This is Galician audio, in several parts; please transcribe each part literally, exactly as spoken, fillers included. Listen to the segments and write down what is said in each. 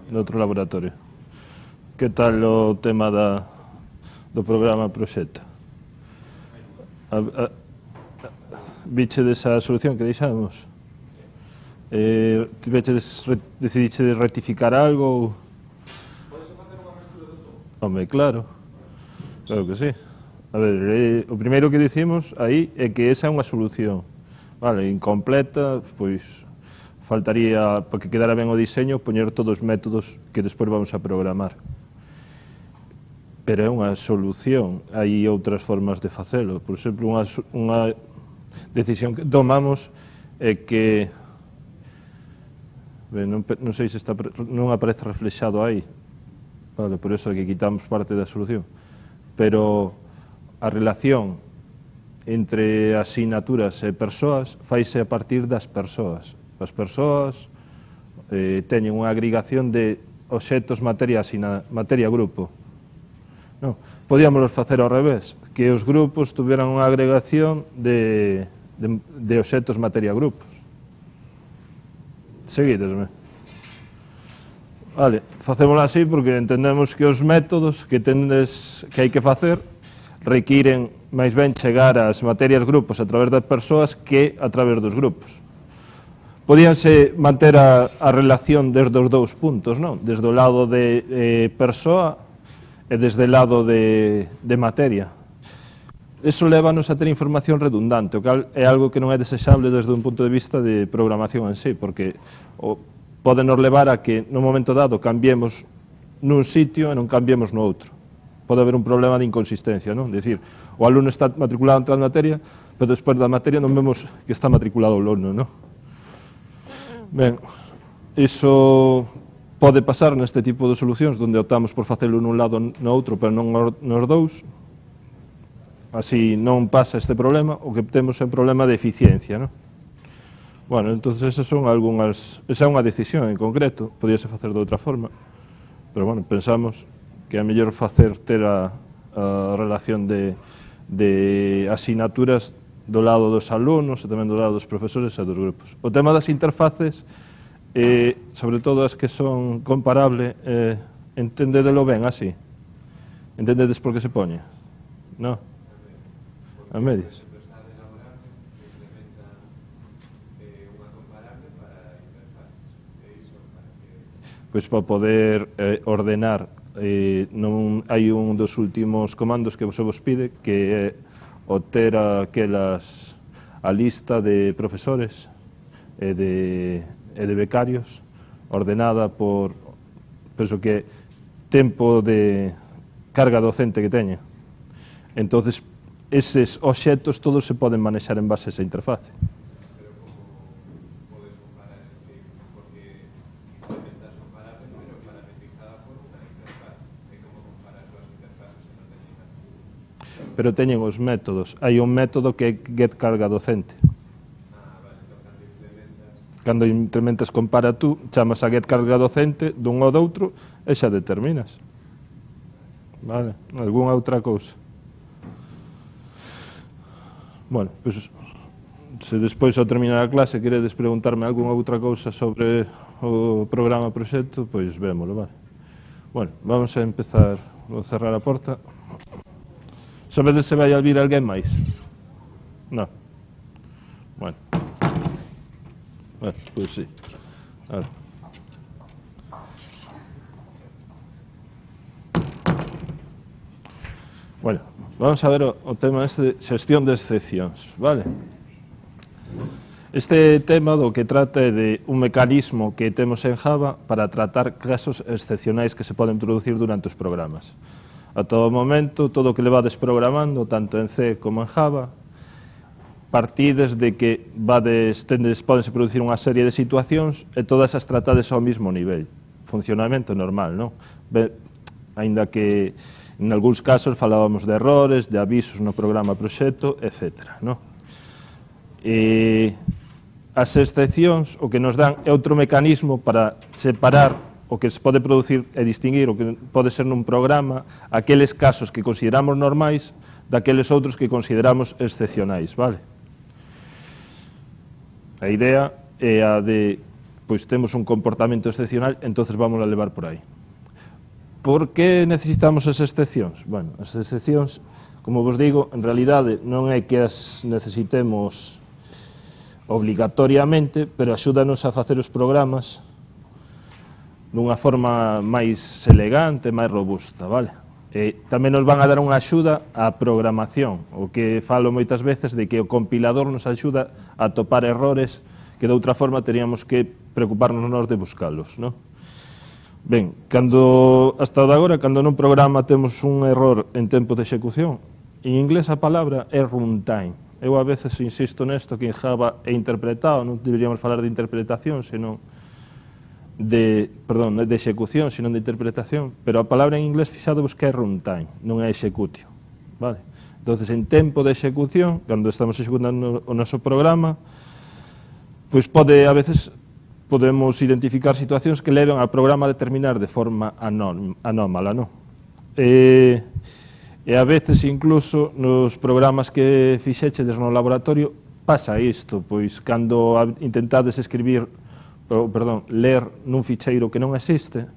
de outro laboratorio. Que tal o tema da, do programa proxecto? A, a, Viche desa solución que deixamos? Eh, tiveches, decidiche rectificar algo? Podes facer unha mestura de todo? Home, claro. Claro que sí. A ver, eh, o primeiro que dicimos aí é que esa é unha solución. Vale, incompleta, pois faltaría, para que quedara ben o diseño, poñer todos os métodos que despois vamos a programar. Pero é unha solución, hai outras formas de facelo. Por exemplo, unha, unha decisión que tomamos é que, ben, non, non sei se está, non aparece reflexado aí, vale, por eso é que quitamos parte da solución, pero a relación entre asignaturas e persoas faise a partir das persoas. As persoas eh, teñen unha agregación de obxectos materia, asina, materia grupo. No, podíamos facer ao revés, que os grupos tuveran unha agregación de, de, de obxectos materia grupos. Seguidesme. Vale, facémoslo así porque entendemos que os métodos que tendes que hai que facer requiren máis ben chegar ás materias grupos a través das persoas que a través dos grupos. Podíanse manter a, a relación desde os dous puntos, non? Desde o lado de eh, persoa e desde o lado de, de materia. Eso lévanos a ter información redundante, o cal é algo que non é desexable desde un punto de vista de programación en sí, porque o, pode nos levar a que no momento dado cambiemos nun sitio e non cambiemos no outro. Pode haber un problema de inconsistencia, non? Dicir, o alumno está matriculado en tal materia, pero despois da materia non vemos que está matriculado o alumno, non? Ben, iso pode pasar neste tipo de solucións onde optamos por facelo nun lado no outro, pero non nos dous. Así non pasa este problema, o que temos é un problema de eficiencia, non? Bueno, entón, esas son algunhas... Esa é unha decisión en concreto, podíase facer de outra forma, pero, bueno, pensamos que é mellor facer ter a, a relación de, de asignaturas do lado dos alumnos e tamén do lado dos profesores e dos grupos. O tema das interfaces, eh, sobre todo as que son comparables, eh, entendedelo ben así? Entendedes por que se poñe? Non? A medias? Pois para poder eh, ordenar, eh, non hai un dos últimos comandos que vos vos pide, que é o ter aquelas, a lista de profesores e de, e de becarios ordenada por, penso que, tempo de carga docente que teña. Entonces, eses obxectos todos se poden manexar en base a esa interface. Pero como podes comparar en sí, porque intentas comparar, pero parametrizada por unha interfaz. É como comparar dúas interfaces e non teñen nada. Pero teñen os métodos. Hai un método que é get carga docente. Ah, vale, entón cando implementas... Cando implementas compara tú, chamas a get carga docente dun ou do outro e xa determinas. Vale, algunha outra cousa. Bueno, pois, se despois ao terminar a clase queredes preguntarme algunha outra cousa sobre o programa proxecto, pois vémolo, vale. Bueno, vamos a empezar, vou cerrar a porta. Sabedes se vai a vir alguén máis? Non. Bueno. Bueno, pois sí. A ver. Bueno, vamos a ver o, o tema este de xestión de excepcións, vale? Este tema do que trata é de un mecanismo que temos en Java para tratar casos excepcionais que se poden producir durante os programas. A todo momento, todo o que levades programando, tanto en C como en Java, partides de que vades, tendes, podense producir unha serie de situacións e todas as tratades ao mismo nivel. Funcionamento normal, non? Be, ainda que en algúns casos falábamos de errores, de avisos no programa proxecto, etcétera. No? E as excepcións o que nos dan é outro mecanismo para separar o que se pode producir e distinguir o que pode ser nun programa aqueles casos que consideramos normais daqueles outros que consideramos excepcionais, vale? A idea é a de pois temos un comportamento excepcional, entonces vamos a levar por aí. Por que necesitamos as excepcións? Bueno, as excepcións, como vos digo, en realidade non é que as necesitemos obligatoriamente, pero axúdanos a facer os programas dunha forma máis elegante, máis robusta, vale? E tamén nos van a dar unha axuda á programación, o que falo moitas veces de que o compilador nos axuda a topar errores que de outra forma teríamos que preocuparnos nós de buscalos, non? Ben, cando, hasta de agora, cando nun programa temos un error en tempo de execución, en inglés a palabra é runtime. Eu a veces insisto nesto que en Java é interpretado, non deberíamos falar de interpretación, senón de, perdón, de execución, senón de interpretación, pero a palabra en inglés fixadevos que é runtime, non é executio, vale? Entonces, en tempo de execución, cando estamos executando o noso programa, pois pode, a veces, podemos identificar situacións que levan ao programa a determinar de forma anómala, non? E, e a veces, incluso, nos programas que fixechedes no laboratorio, pasa isto, pois, cando intentades escribir, perdón, ler nun ficheiro que non existe,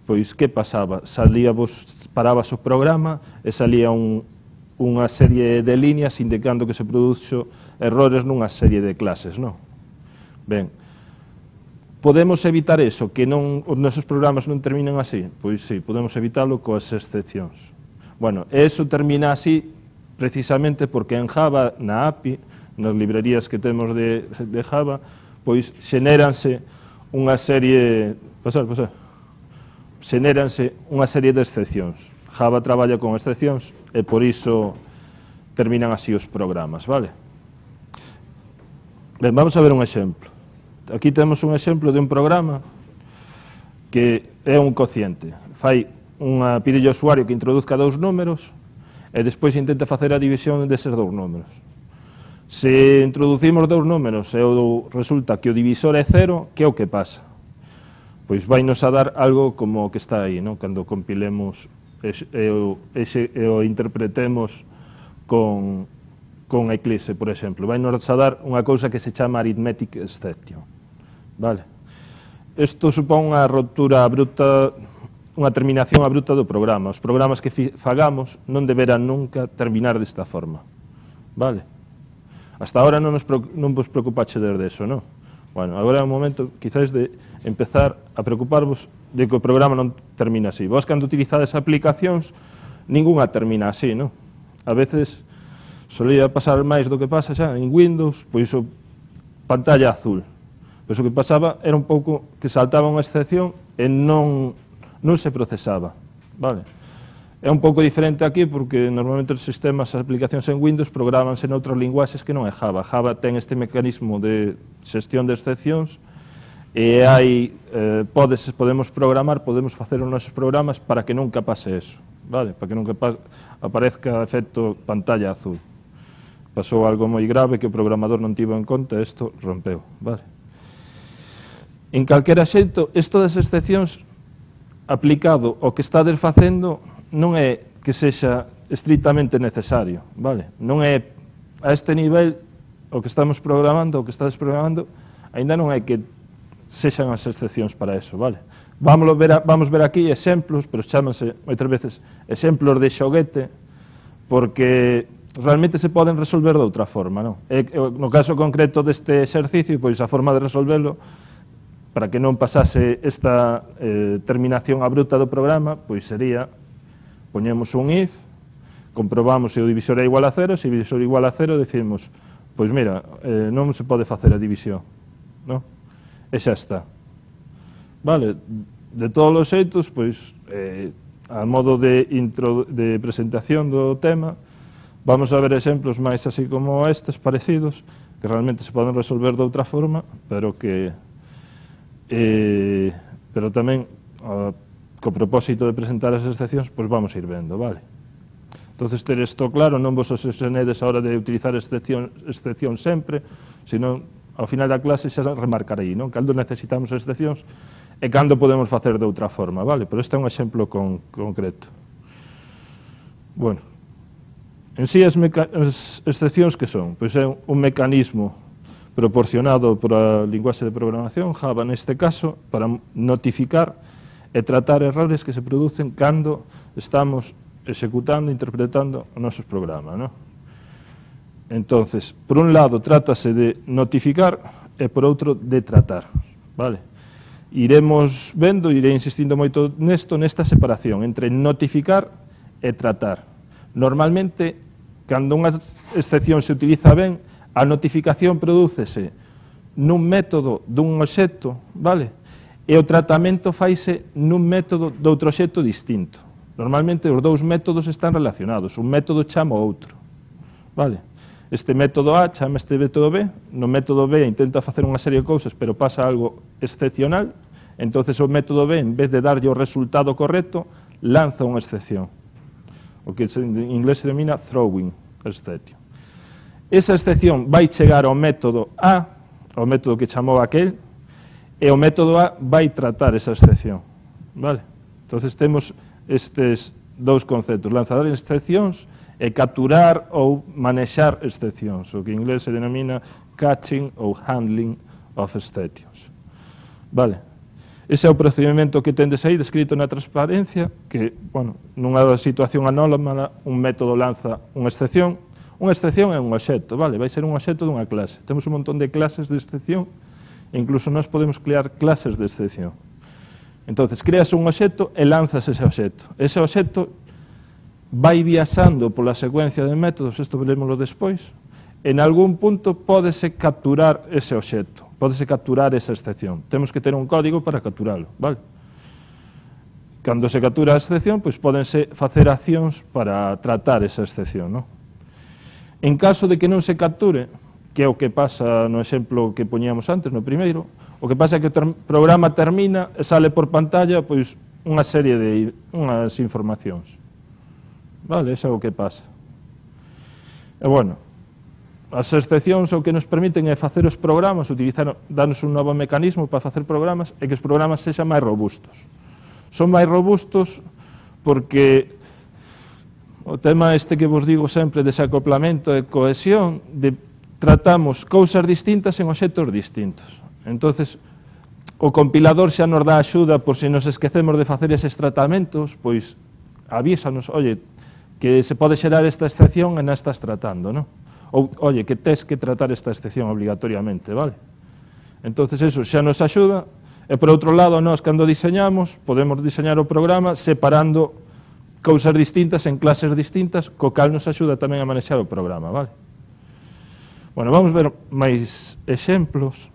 pois, que pasaba? Salía vos, parabas o programa e salía un, unha serie de líneas indicando que se produxo errores nunha serie de clases, non? Ben, podemos evitar eso, que non, os nosos programas non terminen así? Pois sí, podemos evitalo coas excepcións. Bueno, eso termina así precisamente porque en Java, na A P I, nas librerías que temos de, de Java, pois xenéranse unha serie, pasar, pasar, xenéranse unha serie de excepcións. Java traballa con excepcións e por iso terminan así os programas, vale? Ben, vamos a ver un exemplo. Aquí temos un exemplo de un programa que é un cociente. Fai unha, pide ao usuario que introduzca dous números e despois intenta facer a división deses dous números. Se introducimos dous números e resulta que o divisor é cero, que é o que pasa? Pois vai nos a dar algo como o que está aí, non? Cando compilemos e o, e o interpretemos con, con Eclipse, por exemplo. Vai nos a dar unha cousa que se chama arithmetic exception. Vale? Isto supón unha ruptura abrupta, unha terminación abrupta do programa. Os programas que fagamos non deberán nunca terminar desta forma. Vale? Hasta ahora non, nos, non vos preocupaxe de eso, non? Bueno, agora é un momento, quizás, de empezar a preocuparvos de que o programa non termina así. Vos, cando utilizades aplicacións, ninguna termina así, non? A veces solía pasar máis do que pasa xa en Windows, pois o pantalla azul. Pois o que pasaba era un pouco que saltaba unha excepción e non, non se procesaba, vale? É un pouco diferente aquí porque normalmente os sistemas, as aplicacións en Windows programanse noutros linguaxes que non é Java. Java ten este mecanismo de xestión de excepcións e hai, eh, podes, podemos programar, podemos facer os nosos programas para que nunca pase eso, vale? Para que nunca pase, aparezca efecto pantalla azul. Pasou algo moi grave que o programador non tivo en conta e isto rompeu, vale? En calquera xeito, isto das excepcións aplicado ao que estades facendo non é que sexa estritamente necesario, vale? Non é a este nivel o que estamos programando, o que estades programando, aínda non é que sexan as excepcións para eso, vale? Vamos ver, a, vamos ver aquí exemplos, pero chámanse moitas veces exemplos de xoguete, porque realmente se poden resolver de outra forma, non? E, no caso concreto deste exercicio, pois a forma de resolverlo, para que non pasase esta eh, terminación abrupta do programa, pois sería, poñemos un if, comprobamos se o divisor é igual a cero, se o divisor é igual a cero, decimos, pois mira, eh, non se pode facer a división, non? E xa está. Vale, de todos os xeitos, pois, eh, a modo de, intro, de presentación do tema, vamos a ver exemplos máis así como estes, parecidos, que realmente se poden resolver de outra forma, pero que... Eh, pero tamén uh, co propósito de presentar as excepcións, pois vamos a ir vendo, vale? Entonces, ter isto claro, non vos obsesionedes a hora de utilizar excepción, excepción sempre, senón ao final da clase xa remarcarei, non? Cando necesitamos excepcións e cando podemos facer de outra forma, vale? Pero este é un exemplo con, concreto. Bueno, en sí as, as excepcións que son? Pois é un mecanismo proporcionado por a linguaxe de programación, Java neste caso, para notificar e tratar errores que se producen cando estamos executando, interpretando os nosos programas, ¿no? Entonces, por un lado, trátase de notificar e por outro, de tratar, vale? Iremos vendo, irei insistindo moito nesto, nesta separación entre notificar e tratar. Normalmente, cando unha excepción se utiliza ben, a notificación prodúcese nun método dun obxecto, vale? E o tratamento faise nun método de outro obxecto distinto. Normalmente os dous métodos están relacionados, un método chama o outro, vale? Este método A chama este método B, no método B intenta facer unha serie de cousas, pero pasa algo excepcional, entonces o método B, en vez de darlle o resultado correcto, lanza unha excepción, o que en inglés se denomina throwing exception. Esa excepción vai chegar ao método A, ao método que chamou aquel, e o método A vai tratar esa excepción, vale? Entonces temos estes dous conceptos, lanzar excepcións e capturar ou manexar excepcións, o que en inglés se denomina catching ou handling of exceptions. Vale? Ese é o procedimento que tendes aí descrito na transparencia, que, bueno, nunha situación anómala, un método lanza unha excepción. Unha excepción é un obxecto, vale? Vai ser un obxecto dunha clase. Temos un montón de clases de excepción, e incluso nós podemos crear clases de excepción. Entonces, creas un obxecto e lanzas ese obxecto. Ese obxecto vai viaxando pola secuencia de métodos, isto verémoslo despois, en algún punto pódese capturar ese obxecto, pódese capturar esa excepción. Temos que ter un código para capturalo, vale? Cando se captura a excepción, pois pódense facer accións para tratar esa excepción, non? En caso de que non se capture, que é o que pasa no exemplo que poñíamos antes, no primeiro, o que pasa é que o programa termina e sale por pantalla pois unha serie de unhas informacións. Vale, eso é o que pasa. E, bueno, as excepcións o que nos permiten é facer os programas, utilizar, darnos un novo mecanismo para facer programas e que os programas sexan máis robustos. Son máis robustos porque o tema este que vos digo sempre de desacoplamento e cohesión, de tratamos cousas distintas en obxectos distintos. Entonces, o compilador xa nos dá axuda por se nos esquecemos de facer eses tratamentos, pois avísanos, oye, que se pode xerar esta excepción e non estás tratando, non? Ou, oye, que tes que tratar esta excepción obligatoriamente, vale? Entonces, eso xa nos axuda, e por outro lado, nós, cando diseñamos, podemos diseñar o programa separando cousas distintas en clases distintas, co cal nos axuda tamén a manexar o programa, vale? Bueno, vamos ver máis exemplos.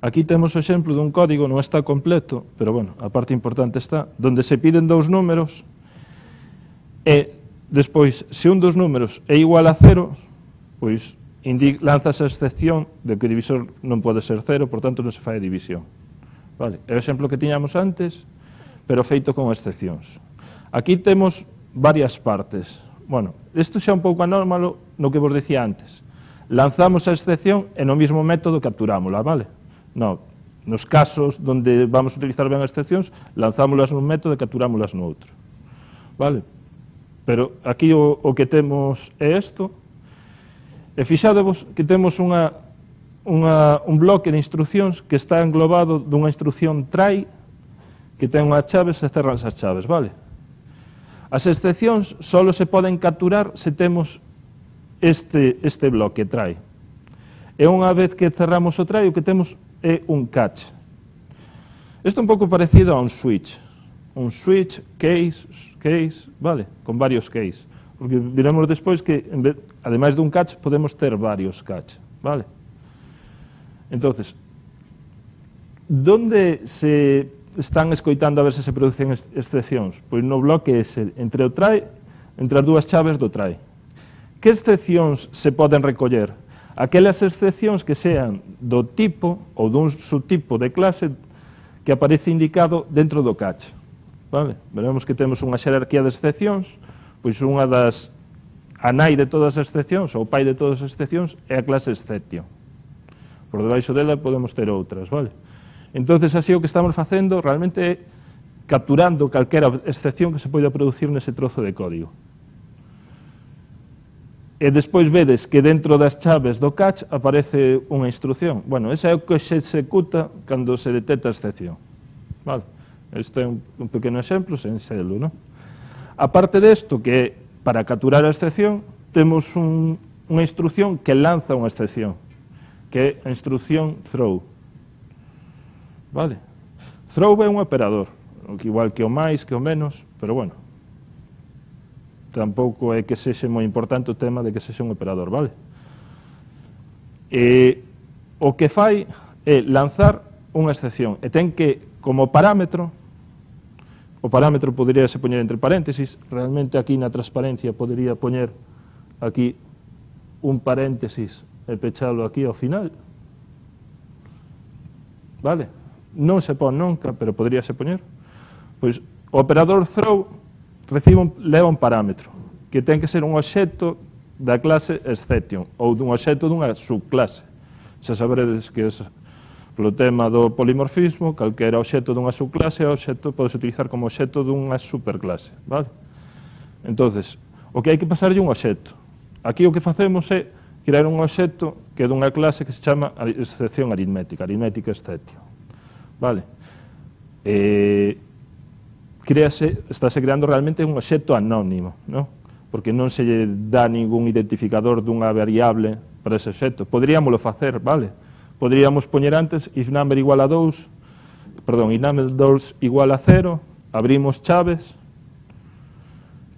Aquí temos o exemplo dun código, non está completo, pero, bueno, a parte importante está, donde se piden dous números, e despois, se un dos números é igual a cero, pois lanzas a excepción de que o divisor non pode ser cero, por tanto non se fai a división. Vale? É o exemplo que tiñamos antes, pero feito con excepcións. Aquí temos varias partes. Bueno, isto xa é un pouco anómalo no que vos decía antes. Lanzamos a excepción e no mismo método capturámola, vale? No, nos casos onde vamos a utilizar ben as excepcións, lanzámolas nun método e capturámolas no outro. Vale? Pero aquí o, o que temos é isto, e fixadevos que temos unha, unha, un bloque de instruccións que está englobado dunha instrucción try, que ten unhas chaves e cerran as chaves, vale? As excepcións só se poden capturar se temos este, este bloque try. E unha vez que cerramos o try, o que temos é un catch. Isto é un pouco parecido a un switch. Un switch, case, case, vale, con varios case. Porque veremos despois que, ademais dun catch, podemos ter varios catch, vale? Entonces, donde se están escoitando a ver se se producen excepcións? Pois no bloque ese, entre o try, entre as dúas chaves do try. Que excepcións se poden recoller? Aquelas excepcións que sean do tipo ou dun subtipo de clase que aparece indicado dentro do catch. Vale? Veremos que temos unha xerarquía de excepcións, pois unha das, a nai de todas as excepcións, ou o pai de todas as excepcións, é a clase exception. Por debaixo dela podemos ter outras, vale? Entonces, así o que estamos facendo realmente é capturando calquera excepción que se poida producir nese trozo de código. e despois vedes que dentro das chaves do catch aparece unha instrucción. Bueno, esa é o que se executa cando se detecta a excepción. Vale. Este é un, un pequeno exemplo sen selo, non? A parte desto, que para capturar a excepción, temos un, unha instrucción que lanza unha excepción, que é a instrucción throw. Vale? Throw é un operador, igual que o máis, que o menos, pero bueno, tampouco é que sexe moi importante o tema de que sexe un operador, vale? E o que fai é lanzar unha excepción, e ten que, como parámetro, o parámetro podería se poñer entre paréntesis, realmente aquí na transparencia podería poñer aquí un paréntesis e pechalo aquí ao final, vale? Non se pon nunca, pero poderíase poñer. Pois o operador throw recibe un, leva un parámetro, que ten que ser un obxecto da clase exception, ou dun obxecto dunha subclase. Xa saberedes que es, polo tema do polimorfismo, calquera obxecto dunha subclase é obxecto, podes utilizar como obxecto dunha superclase, vale? Entonces, o que hai que pasarlle un obxecto. Aquí o que facemos é crear un obxecto que é dunha clase que se chama excepción aritmética, aritmética exception, vale? E créase, estáse creando realmente un obxecto anónimo, non? Porque non se lle dá ningún identificador dunha variable para ese obxecto. Poderíamoslo facer, vale? Poderíamos poñer antes if number igual a dous, perdón, if number dous igual a cero, abrimos chaves,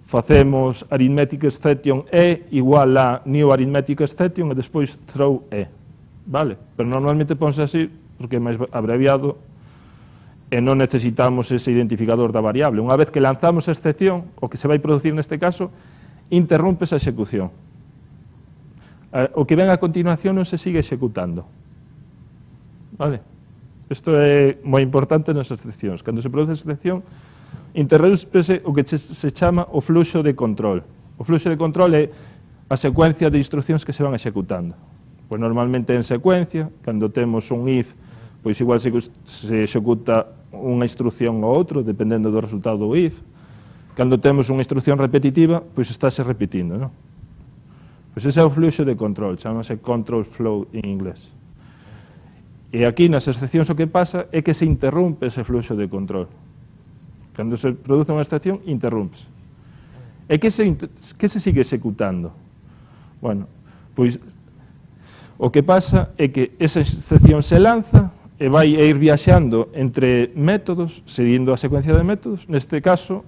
facemos arithmetic exception e igual a new arithmetic exception e despois throw e, vale? Pero normalmente ponse así porque é máis abreviado e non necesitamos ese identificador da variable. Unha vez que lanzamos a excepción, o que se vai producir neste caso, interrompe esa execución. O que ven a continuación non se sigue executando. Vale? Isto é moi importante nas excepcións. Cando se produce a excepción, interrómpese o que se chama o fluxo de control. O fluxo de control é a secuencia de instruccións que se van executando. Pois normalmente en secuencia, cando temos un if, pois igual se, se executa unha instrucción ou outro, dependendo do resultado do if. Cando temos unha instrucción repetitiva, pois estáse repetindo, non? Pois ese é o fluxo de control, chamase control flow en inglés. E aquí nas excepcións o que pasa é que se interrompe ese fluxo de control. Cando se produce unha excepción, interrúmpese. E que se, que se sigue executando? Bueno, pois o que pasa é que esa excepción se lanza e vai ir viaxando entre métodos, seguindo a secuencia de métodos. Neste caso,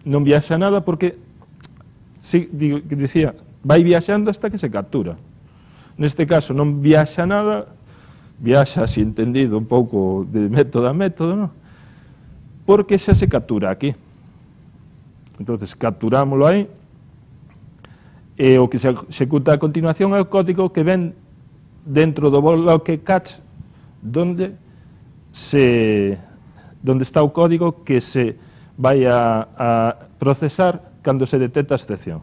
non viaxa nada porque, si, digo, que dicía, vai viaxando hasta que se captura. Neste caso non viaxa nada, viaxa, así entendido, un pouco de método a método, non? Porque xa se captura aquí. Entonces, capturámoslo aí, e o que se executa a continuación é o código que ven dentro do bloque catch, donde se donde está o código que se vai a, a procesar cando se detecta a excepción.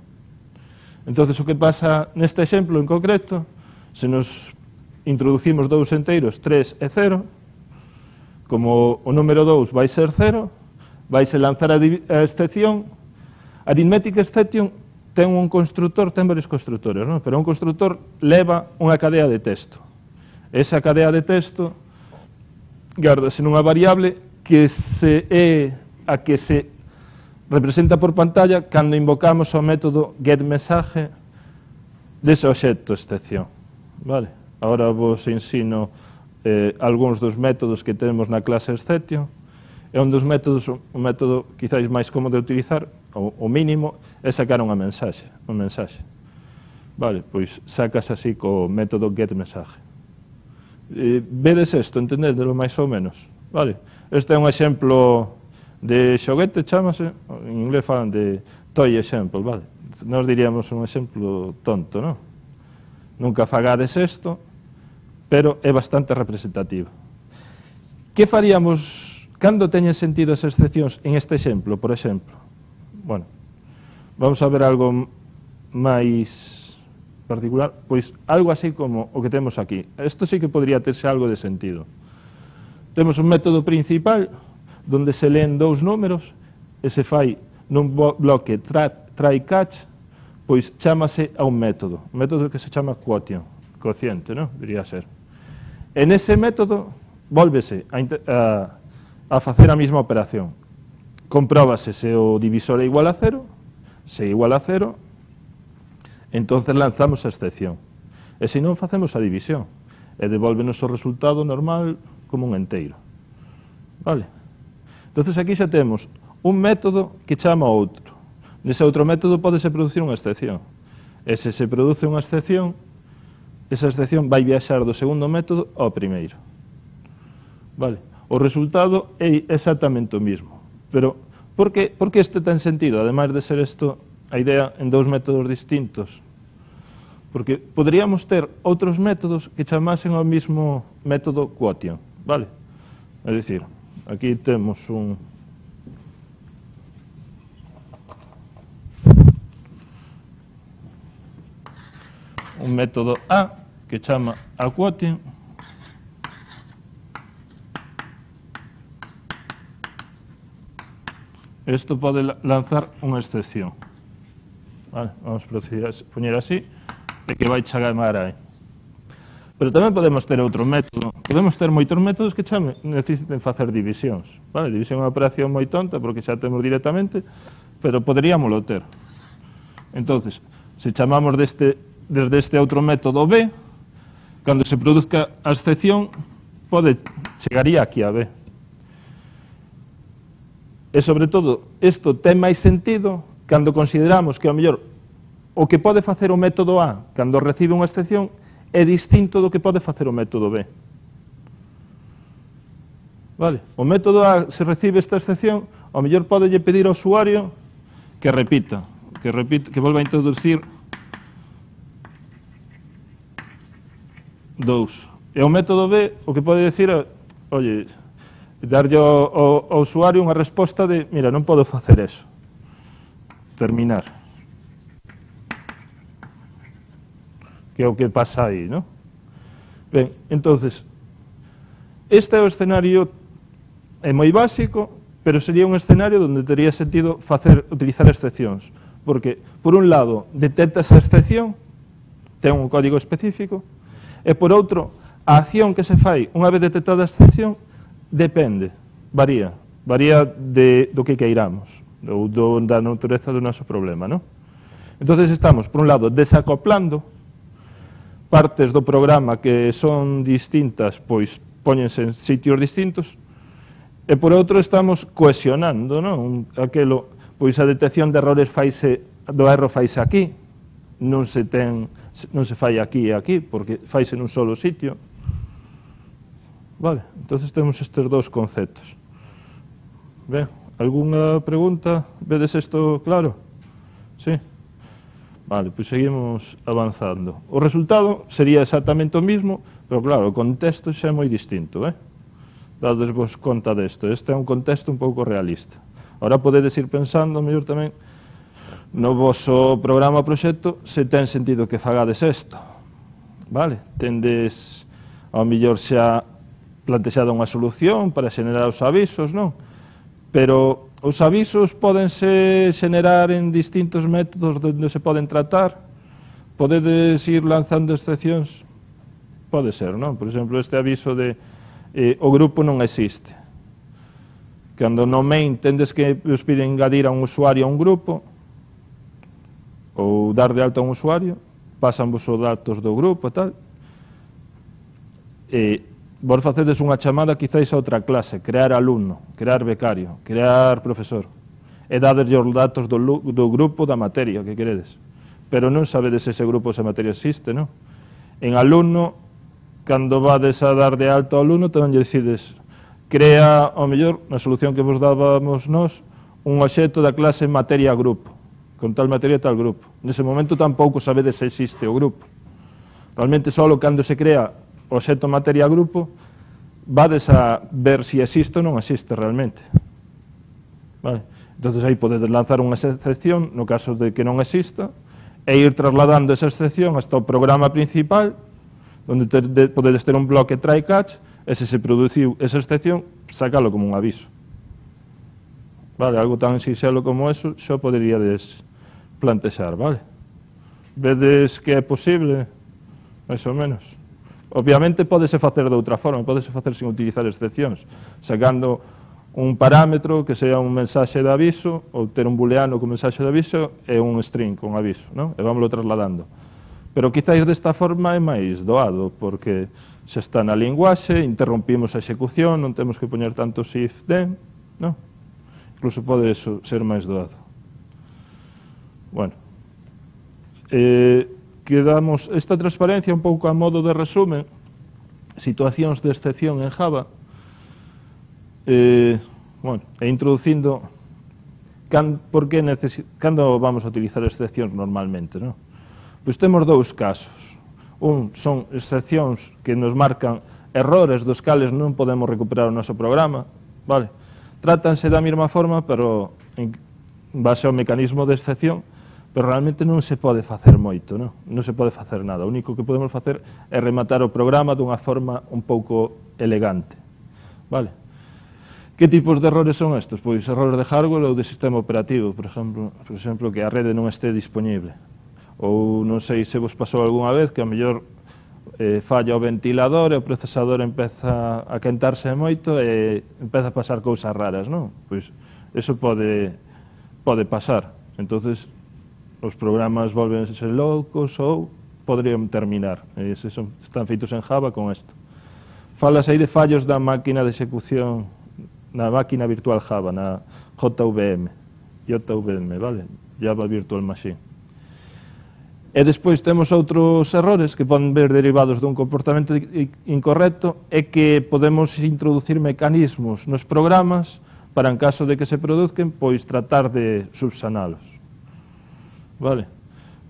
Entonces, o que pasa neste exemplo en concreto, se nos introducimos dous enteiros, tres e cero, como o número dous vai ser cero, vaise lanzar a, a excepción. Arithmetic exception ten un constructor, ten varios constructores, non? Pero un constructor leva unha cadea de texto. Esa cadea de texto gárdase nunha variable que se é a que se representa por pantalla cando invocamos o método getMessage dese obxecto excepción. Vale? Agora vos ensino eh, algúns dos métodos que temos na clase exception. É un dos métodos, un método quizáis máis cómodo de utilizar, o, o mínimo, é sacar unha mensaxe, unha mensaxe. Vale, pois sacas así co método getMessage. Eh, vedes isto, entendedelo máis ou menos, vale? Este é un exemplo de xoguete, chamase, en inglés falan de toy example, vale? Nos diríamos un exemplo tonto, non? Nunca fagades isto, pero é bastante representativo. Que faríamos cando teñen sentido as excepcións en este exemplo, por exemplo? Bueno, vamos a ver algo máis particular, pois algo así como o que temos aquí. Isto sí que podría terse algo de sentido. Temos un método principal donde se leen dous números e se fai nun bloque try catch, pois chámase a un método, un método que se chama quotient, cociente, non? Diría ser. En ese método, volvese a, a, a facer a mesma operación. Compróbase se o divisor é igual a cero, se é igual a cero, entonces lanzamos a excepción. E se non, facemos a división. E devolvenos o resultado normal como un enteiro. Vale? Entonces aquí xa temos un método que chama outro. Nese outro método podese producir unha excepción. E se se produce unha excepción, esa excepción vai viaxar do segundo método ao primeiro. Vale? O resultado é exactamente o mismo. Pero, por que, por que isto ten sentido? Ademais de ser isto a idea en dous métodos distintos. Porque poderíamos ter outros métodos que chamasen ao mismo método quotient. Vale? É dicir, aquí temos un... un método A que chama a quotient isto pode lanzar unha excepción. Vale, vamos proceder a poñer así e que vai chamar aí. Pero tamén podemos ter outro método. Podemos ter moitos métodos que chame, necesiten facer divisións. Vale, división é unha operación moi tonta porque xa temos directamente, pero poderíamoslo ter. Entonces, se chamamos deste desde este outro método B, cando se produzca a excepción, pode, chegaría aquí a B. E, sobre todo, isto ten máis sentido cando consideramos que, ao mellor, o que pode facer o método A cando recibe unha excepción é distinto do que pode facer o método B. Vale? O método A, se recibe esta excepción, ao mellor pode lle pedir ao usuario que repita, que, repita, que volva a introducir dous. E o método B o que pode decir é, oye, darlle ao, ao, ao usuario unha resposta de, mira, non podo facer eso. Terminar. Que é o que pasa aí, non? Ben, entonces, este é o escenario, é moi básico, pero sería un escenario onde tería sentido facer, utilizar excepcións. Porque, por un lado, detecta esa excepción, ten un código específico, e por outro, a acción que se fai unha vez detectada a excepción depende, varía, varía de, do que queiramos, ou do, da natureza do noso problema, non? Entonces estamos, por un lado, desacoplando partes do programa que son distintas, pois póñense en sitios distintos, e por outro estamos cohesionando, non? Aquelo, pois a detección de errores faise, do erro faise aquí, non se ten, non se fai aquí e aquí, porque faise nun solo sitio. Vale, entonces temos estes dous conceptos. Ben, algunha pregunta? Vedes isto claro? Sí? Vale, pois seguimos avanzando. O resultado sería exactamente o mismo, pero claro, o contexto xa é moi distinto, eh? Dades vos conta desto. Este é un contexto un pouco realista. Ahora podedes ir pensando, mellor tamén, no vosso programa ou proxecto, se ten sentido que fagades isto. Vale? Tendes, ao mellor xa plantexado unha solución para xenerar os avisos, non? Pero os avisos podense xenerar en distintos métodos onde se poden tratar. Podedes ir lanzando excepcións? Pode ser, non? Por exemplo, este aviso de eh, o grupo non existe. Cando no main tendes que os piden engadir a un usuario a un grupo, ou dar de alta a un usuario, pasan vos os datos do grupo e tal, e vos facedes unha chamada quizáis a outra clase, crear alumno, crear becario, crear profesor, e dadeslle os datos do, do grupo da materia que queredes, pero non sabedes se ese grupo, esa materia existe, non? En alumno, cando vades a dar de alta ao alumno, tamén lle decides, crea, ao mellor, na solución que vos dábamos nós, un obxecto da clase materia grupo, con tal materia e tal grupo. Nese momento tampouco sabedes se existe o grupo. Realmente, só cando se crea o obxecto materia grupo, vades a ver se existe ou non existe realmente. Vale? Entón, aí podedes lanzar unha excepción, no caso de que non exista, e ir trasladando esa excepción hasta o programa principal, onde te, de, podedes ter un bloque try catch, e se se produciu esa excepción, sacalo como un aviso. Vale, algo tan sinxelo como eso, xo poderíades plantexar, vale? Vedes que é posible, máis ou menos. Obviamente pódese facer de outra forma, pódese facer sin utilizar excepcións, sacando un parámetro que sea un mensaxe de aviso, ou ter un booleano con mensaxe de aviso e un string con aviso, non? E vámoslo trasladando. Pero quizáis desta forma é máis doado, porque se está na linguaxe, interrompimos a execución, non temos que poñer tantos if, then, non? Incluso pode ser máis doado. Bueno, eh, quedamos esta transparencia un pouco a modo de resumen, situacións de excepción en Java, eh, bueno, e introducindo can, por que cando vamos a utilizar excepcións normalmente, non? Pois temos dous casos. Un son excepcións que nos marcan errores dos cales non podemos recuperar o noso programa, vale? Trátanse da mesma forma, pero en base ao mecanismo de excepción, pero realmente non se pode facer moito, non? Non se pode facer nada. O único que podemos facer é rematar o programa dunha forma un pouco elegante, vale? Que tipos de errores son estes? Pois errores de hardware ou de sistema operativo, por exemplo, por exemplo que a rede non este disponible. Ou non sei se vos pasou algunha vez que a mellor eh, falla o ventilador e o procesador empeza a quentarse moito e empeza a pasar cousas raras, non? Pois eso pode, pode pasar. Entonces os programas volvense loucos ou podrían terminar. E se son, están feitos en Java con isto. Falas aí de fallos da máquina de execución, na máquina virtual Java, na J V M, J V M, vale? Java Virtual Machine. E despois temos outros errores que poden ver derivados dun comportamento incorrecto e que podemos introducir mecanismos nos programas para, en caso de que se produzcan, pois tratar de subsanalos. Vale?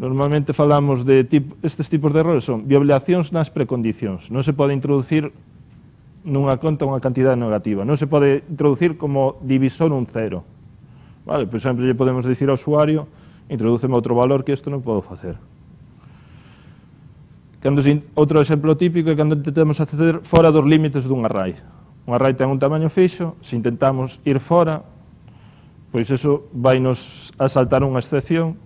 Normalmente falamos de tipo, estes tipos de errores son violacións nas precondicións. Non se pode introducir nunha conta unha cantidade negativa. Non se pode introducir como divisor un cero. Vale? Por exemplo, lle podemos dicir ao usuario introdúceme outro valor que isto non podo facer. Cando, outro exemplo típico é cando intentamos acceder fora dos límites dun array. Un array ten un tamaño fixo, se intentamos ir fora, pois eso vai nos a saltar unha excepción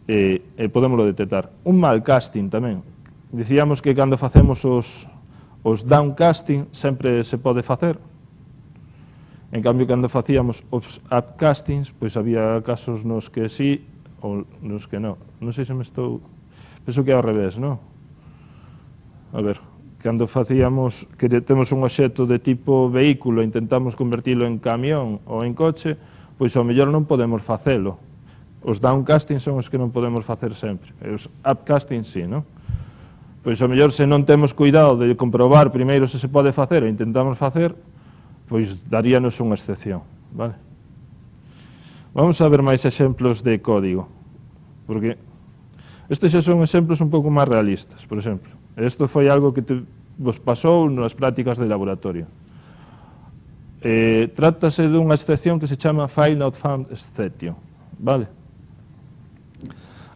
e, e podémoslo detectar. Un mal casting tamén. Dicíamos que cando facemos os, os downcasting sempre se pode facer. En cambio, cando facíamos os upcastings, pois había casos nos que sí ou nos que non. Non sei se me estou... Penso que é ao revés, non? A ver, cando facíamos que temos un obxecto de tipo vehículo e intentamos convertilo en camión ou en coche, pois ao mellor non podemos facelo. Os downcasting son os que non podemos facer sempre. E os upcasting sí, non? Pois ao mellor se non temos cuidado de comprobar primeiro se se pode facer e intentamos facer, pois daríanos unha excepción, vale? Vamos a ver máis exemplos de código, porque estes xa son exemplos un pouco máis realistas. Por exemplo, isto foi algo que te, vos pasou nas prácticas de laboratorio. Eh, trátase dunha excepción que se chama File Not Found Exception, vale?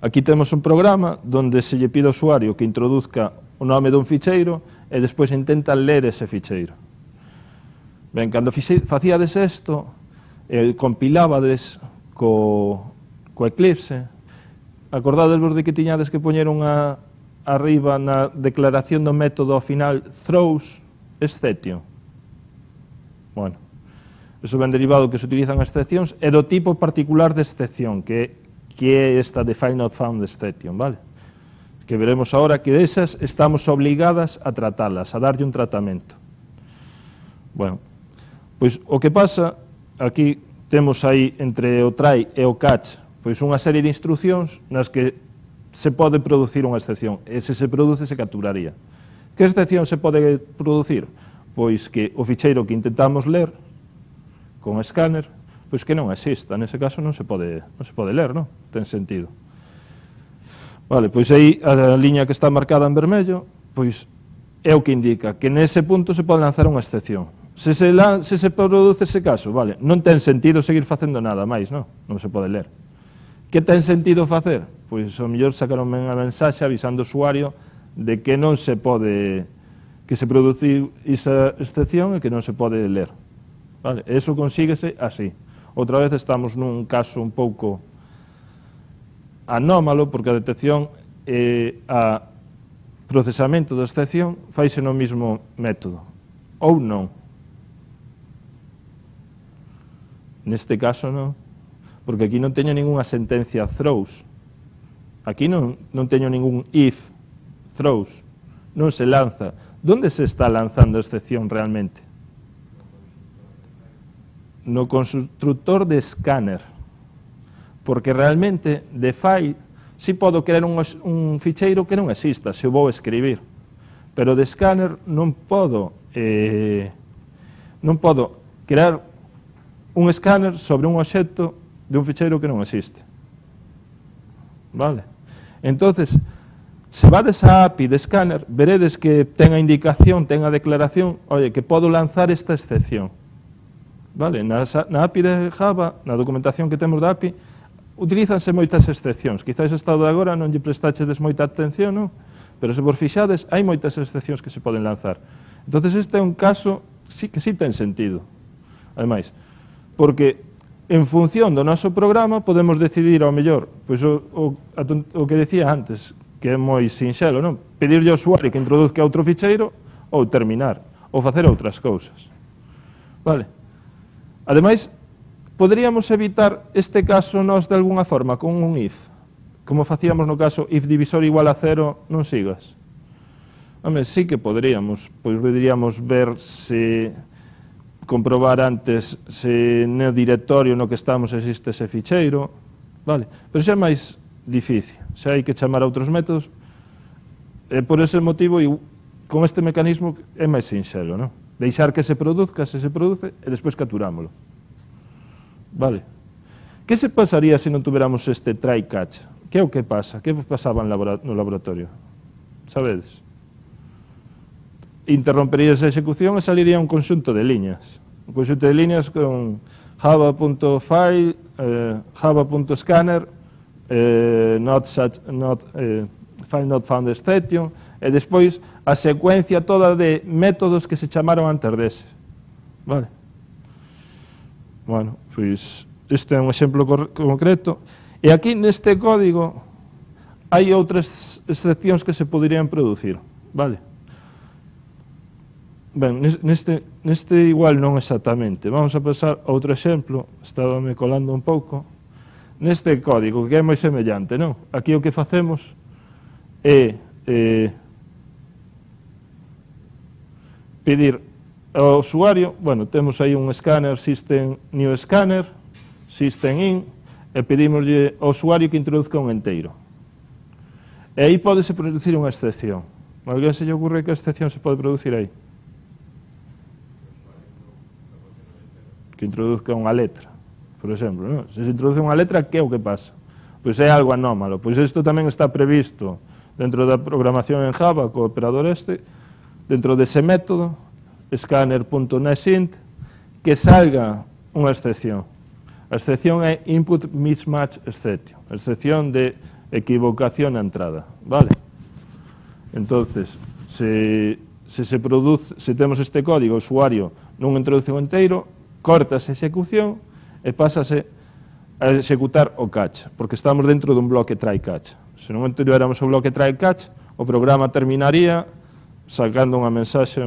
Aquí temos un programa onde se lle pide ao usuario que introduzca o nome dun ficheiro e despois intenta ler ese ficheiro. Ben, cando facíades isto, eh, compilabades co, co Eclipse, acordadesvos de que tiñades que poñer unha arriba na declaración do método ao final throws exception. Bueno, eso ben derivado que se utilizan excepcións e do tipo particular de excepción, que, que é esta de File Not Found Exception, vale? Que veremos agora que esas estamos obligadas a tratalas, a darlle un tratamento. Bueno, pois o que pasa, aquí temos aí entre o try e o catch, pois unha serie de instruccións nas que se pode producir unha excepción, e se se produce se capturaría. Que excepción se pode producir? Pois que o ficheiro que intentamos ler con escáner, pois que non exista, nese caso non se pode, non se pode ler, non? Ten sentido. Vale, pois aí a liña que está marcada en vermello, pois é o que indica que nese punto se pode lanzar unha excepción. Se se, lan, se se produce ese caso, vale, non ten sentido seguir facendo nada máis, non? Non se pode ler. Que ten sentido facer? Pois ao mellor sacar unha mensaxe avisando ao usuario de que non se pode, que se produciu esa excepción e que non se pode ler. Vale? Eso consíguese así. Outra vez estamos nun caso un pouco anómalo porque a detección e a procesamento da excepción faise no mesmo método, ou non. Neste caso non, porque aquí non teño ninguna sentencia throws, aquí non, non teño ningún if throws, non se lanza. Donde se está lanzando a excepción realmente? No constructor de scanner, porque realmente de file si podo crear un, un ficheiro que non exista, se o vou escribir, pero de scanner non podo eh, non podo crear un scanner sobre un obxecto de un ficheiro que non existe. Vale? Entonces, se vades a A P I de scanner, veredes que ten a indicación, ten a declaración, oye, que podo lanzar esta excepción. Vale? Na, na A P I de Java, na documentación que temos da A P I, utilízanse moitas excepcións. Quizás estado de agora non lle prestachedes moita atención, non? Pero se vos fixades, hai moitas excepcións que se poden lanzar. Entonces este é un caso sí, que sí ten sentido. Ademais, porque en función do noso programa podemos decidir ao mellor, pois o, o, o que decía antes, que é moi sinxelo, non? Pedirlle ao usuario que introduzca outro ficheiro ou terminar, ou facer outras cousas. Vale? Ademais, poderíamos evitar este caso nós de alguna forma con un if, como facíamos no caso if divisor igual a cero, non sigas. Home, sí que poderíamos, pois poderíamos ver se comprobar antes se no directorio no que estamos existe ese ficheiro, vale? Pero xa é máis difícil, xa hai que chamar a outros métodos, e por ese motivo, con este mecanismo é máis sinxelo, non? Deixar que se produzca, se se produce, e despois capturámolo. Vale? Que se pasaría se non tuveramos este try catch? Que é o que pasa? Que pasaba no laboratorio? Sabedes? Interromperíase a execución e saliría un conxunto de liñas. Un conxunto de liñas con java.file, eh, java.scanner, eh, not such, not, eh, file not found exception, e despois a secuencia toda de métodos que se chamaron antes dese. Vale? Bueno, pois este é un exemplo concreto. E aquí neste código hai outras excepcións que se poderían producir. Vale? Ben, neste, neste igual non exactamente. Vamos a pasar a outro exemplo, estaba me colando un pouco. Neste código, que é moi semellante, non? Aquí o que facemos é eh, pedir ao usuario, bueno, temos aí un scanner, system new scanner, system in, e pedimoslle ao usuario que introduzca un enteiro. E aí podese producir unha excepción. A alguén se lle ocurre que a excepción se pode producir aí? Que introduzca unha letra, por exemplo, non? Se se introduce unha letra, que é o que pasa? Pois é algo anómalo. Pois isto tamén está previsto dentro da programación en Java, co operador este, dentro dese método, scanner.nextInt, que salga unha excepción. A excepción é input mismatch exception, a excepción de equivocación na entrada, vale? Entonces, se, se se produce, se temos este código, o usuario non introduce o enteiro, cortase a execución e pásase a executar o catch, porque estamos dentro dun bloque try catch. Se non tivéramos o bloque try catch, o programa terminaría sacando unha mensaxe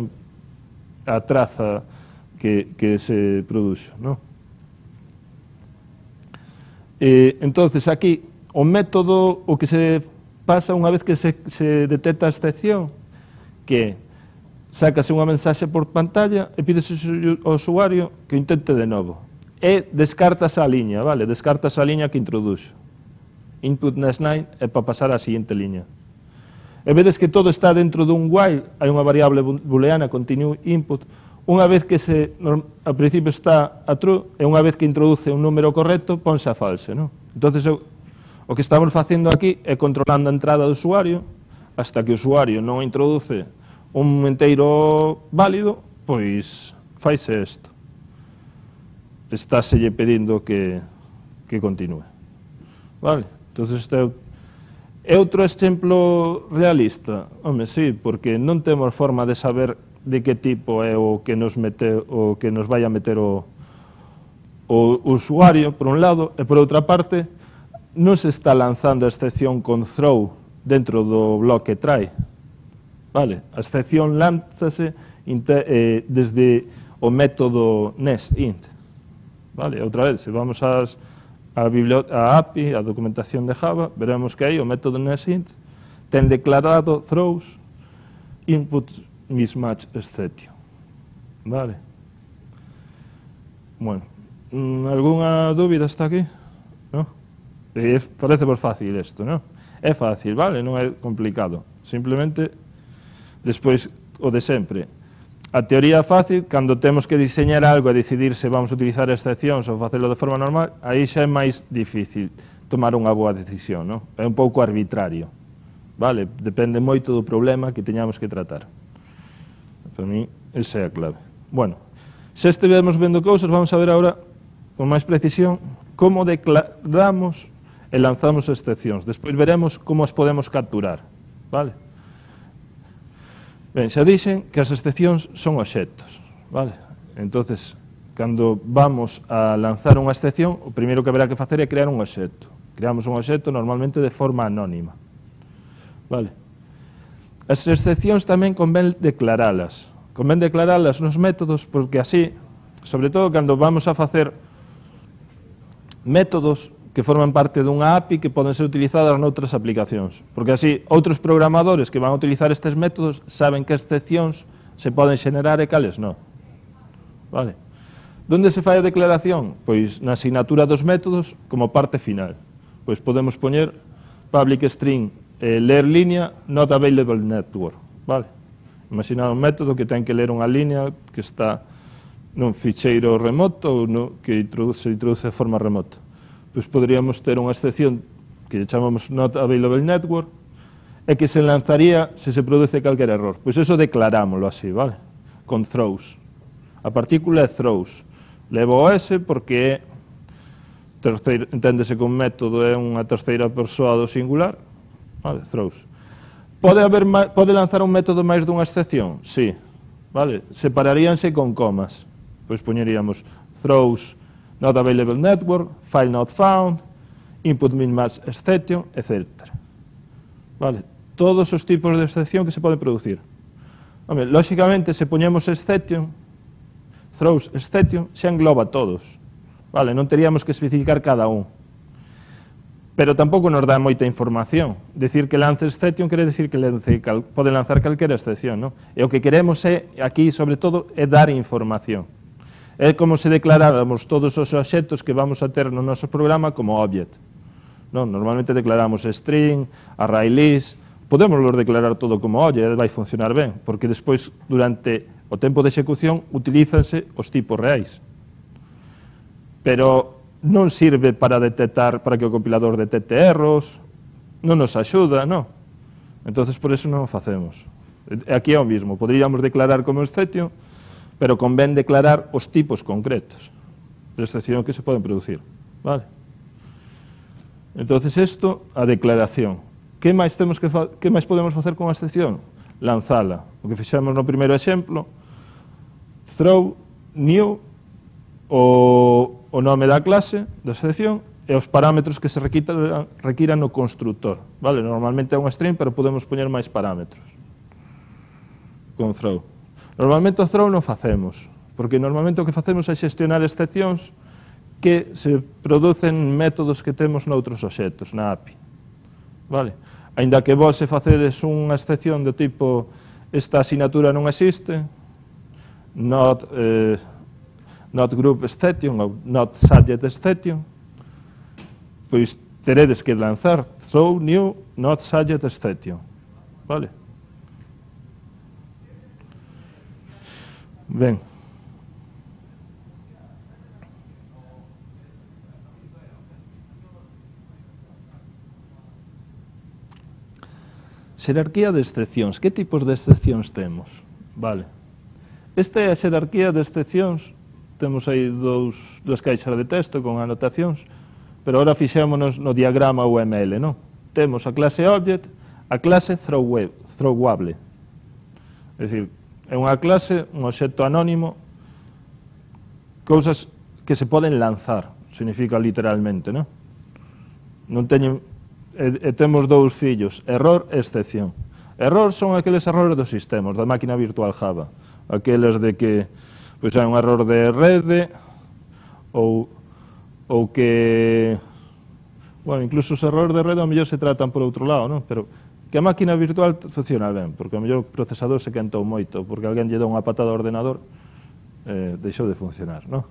a traza que, que se produxo, non? E, entonces, aquí, o método, o que se pasa unha vez que se, se detecta a excepción, que sácase unha mensaxe por pantalla e pídese ao usuario que o intente de novo. E descartas a liña, vale? Descartas a liña que introduxo. Input next line é para pasar á seguinte liña. E vedes que todo está dentro dun while, hai unha variable booleana, continue input, unha vez que se, ao principio está a true, e unha vez que introduce un número correcto, ponse a false, non? Entonces, o que estamos facendo aquí é controlando a entrada do usuario, hasta que o usuario non introduce un enteiro válido, pois faise isto. Estáselle pedindo que, que continúe. Vale? Entonces, este é outro exemplo realista. Home, sí, porque non temos forma de saber de que tipo é o que nos mete, o que nos vai a meter o, o usuario, por un lado, e por outra parte, non se está lanzando a excepción con throw dentro do bloque try. Vale? A excepción lánzase eh, desde o método nestInt. Vale? Outra vez, se vamos ás, a, a A P I, a documentación de Java, veremos que aí o método nestInt ten declarado throws input mismatch exception. Vale? Bueno, ¿algunha dúbida hasta aquí? ¿No? E parece por fácil isto, non? É fácil, vale? Non é complicado. Simplemente, despois, o de sempre. A teoría fácil, cando temos que diseñar algo e decidir se vamos a utilizar excepcións ou facelo de forma normal, aí xa é máis difícil tomar unha boa decisión, non? É un pouco arbitrario, vale? Depende moito do problema que teñamos que tratar. Para mí, esa é a clave. Bueno, xa estivemos vendo cousas, vamos a ver agora, con máis precisión, como declaramos e lanzamos excepcións. Despois veremos como as podemos capturar, vale? Ben, xa dixen que as excepcións son obxectos, vale? Entonces, cando vamos a lanzar unha excepción, o primeiro que haberá que facer é crear un obxecto. Creamos un obxecto normalmente de forma anónima, vale? As excepcións tamén convén declaralas. Convén declaralas nos métodos porque así, sobre todo cando vamos a facer métodos que forman parte dunha A P I que poden ser utilizadas noutras aplicacións. Porque así, outros programadores que van a utilizar estes métodos saben que excepcións se poden xenerar e cales non. Vale? Donde se fai a declaración? Pois na asignatura dos métodos como parte final. Pois podemos poñer public string eh, ler línea not available network. Vale? Imaginad un método que ten que ler unha línea que está nun ficheiro remoto ou no, que introduce, se introduce de forma remota. Pois poderíamos ter unha excepción que chamamos not available network e que se lanzaría se se produce calquer error. Pois eso declarámoslo así, vale? Con throws. A partícula é throws. Levo o S porque é terceiro, enténdese que un método é unha terceira persoa do singular, vale? Throws. Pode, haber, pode lanzar un método máis dunha excepción? Sí. Vale? Separaríanse con comas. Pois poñeríamos throws not available network, file not found, input mismatch exception, etcétera. Vale? Todos os tipos de excepción que se poden producir. Home, lóxicamente, se poñemos exception, throws exception, xa engloba todos. Vale? Non teríamos que especificar cada un. Pero tampouco nos dá moita información. Decir que lance exception quere decir que lance, cal, pode lanzar calquera excepción, non? E o que queremos é, aquí, sobre todo, é dar información. É como se declaráramos todos os obxectos que vamos a ter no noso programa como object. Non? Normalmente declaramos string, array list, podemos declarar todo como object, vai funcionar ben, porque despois, durante o tempo de execución, utilízanse os tipos reais. Pero non sirve para detectar, para que o compilador detecte erros, non nos axuda, non? Entonces, por eso non o facemos. Aquí é o mismo, poderíamos declarar como exception, pero convén declarar os tipos concretos de excepción que se poden producir. Vale? Entonces, isto, a declaración. Que máis temos que que máis podemos facer con a excepción? Lanzala. O que fixemos no primeiro exemplo, throw new o, o nome da clase, da excepción, e os parámetros que se requiran, requiran no constructor. Vale? Normalmente é un string, pero podemos poñer máis parámetros con throw. Normalmente o throw non facemos, porque normalmente o que facemos é xestionar excepcións que se producen métodos que temos noutros obxectos, na A P I. Vale? Ainda que vos se facedes unha excepción do tipo esta asignatura non existe, not, eh, not group exception ou not subject exception, pois teredes que lanzar throw new not subject exception. Vale? Ben. Xerarquía de excepcións. Que tipos de excepcións temos? Vale. Esta é a xerarquía de excepcións. Temos aí dous, dúas caixas de texto con anotacións, pero agora fixémonos no diagrama U M L, non? Temos a clase object, a clase throwable. É dicir, é unha clase, un obxecto anónimo, cousas que se poden lanzar, significa literalmente, non? non teñen, e, e temos dous fillos, error e excepción. Error son aqueles errores dos sistemas, da máquina virtual Java, aqueles de que pois hai un error de rede, ou, ou que, bueno, incluso os errores de rede ao mellor se tratan por outro lado, non? Pero que a máquina virtual funciona ben, porque ao mellor o procesador se quentou moito, porque alguén lle dá unha patada ao ordenador, eh, deixou de funcionar, non?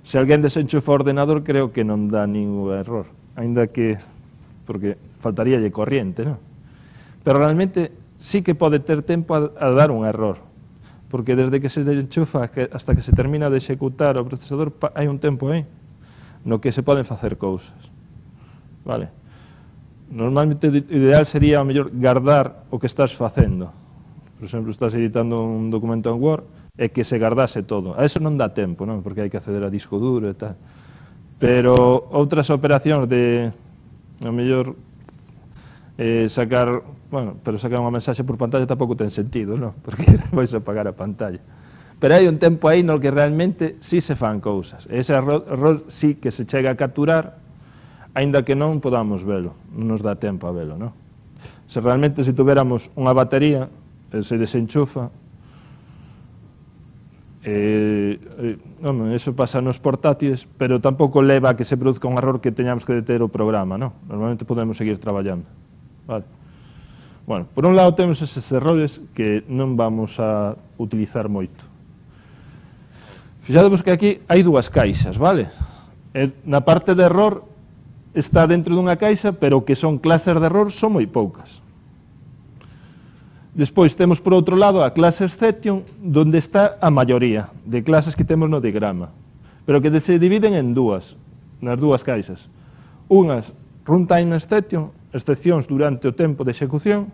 Se alguén desenchufa o ordenador, creo que non dá ningún error, aínda que, porque faltaríalle corriente, non? Pero realmente sí que pode ter tempo a, a dar un error, porque desde que se desenchufa hasta que se termina de executar o procesador, hai un tempo aí, no que se poden facer cousas, vale? Normalmente o ideal sería, ao mellor, guardar o que estás facendo. Por exemplo, estás editando un documento en Word, e que se guardase todo. A eso non dá tempo, non? Porque hai que acceder a disco duro e tal. Pero outras operacións de, ao mellor, eh, sacar, bueno, pero sacar unha mensaxe por pantalla tampouco ten sentido, non? Porque vais a apagar a pantalla. Pero hai un tempo aí no que realmente sí se fan cousas. Ese error, error sí que se chega a capturar, aínda que non podamos velo, non nos dá tempo a velo, non? Se realmente se tuviéramos unha batería, e se desenchufa, Eh, eh, non, eso pasa nos portátiles, pero tampouco leva a que se produzca un error que teñamos que deter o programa, non? Normalmente podemos seguir traballando, vale? Bueno, por un lado temos eses errores que non vamos a utilizar moito. Fixadevos que aquí hai dúas caixas, vale? E na parte de error está dentro dunha caixa, pero que son clases de error son moi poucas. Despois temos por outro lado a clase exception, onde está a maioría de clases que temos no diagrama, pero que se dividen en dúas, nas dúas caixas. Unhas, runtime exception, excepcións durante o tempo de execución,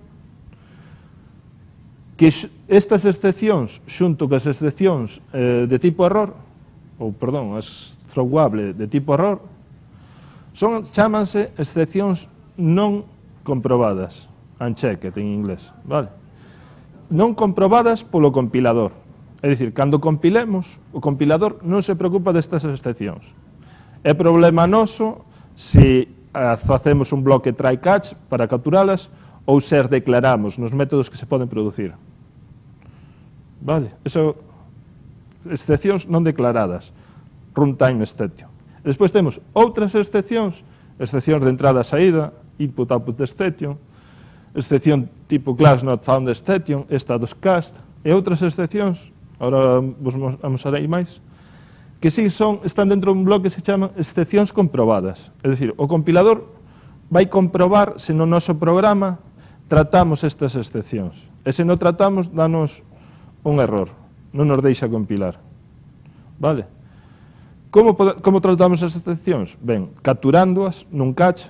que estas excepcións, xunto cas excepcións eh, de tipo error, ou, perdón, as throwable de tipo error, son, chámanse excepcións non comprobadas, unchecked en inglés, vale? Non comprobadas polo compilador. É dicir, cando compilemos, o compilador non se preocupa destas excepcións. É problema noso se facemos un bloque try-catch para capturalas ou se as declaramos nos métodos que se poden producir. Vale? Eso, excepcións non declaradas. Runtime exception. Despois temos outras excepcións, excepcións de entrada e saída, input-output exception, excepción tipo class not found exception, status cast, e outras excepcións, agora vos amosarei máis, que si son, están dentro dun bloque que se chaman excepcións comprobadas. É dicir, o compilador vai comprobar se no noso programa tratamos estas excepcións. E se non tratamos, danos un error, non nos deixa compilar. Vale? Como, como tratamos as excepcións? Ben, capturándoas nun cache,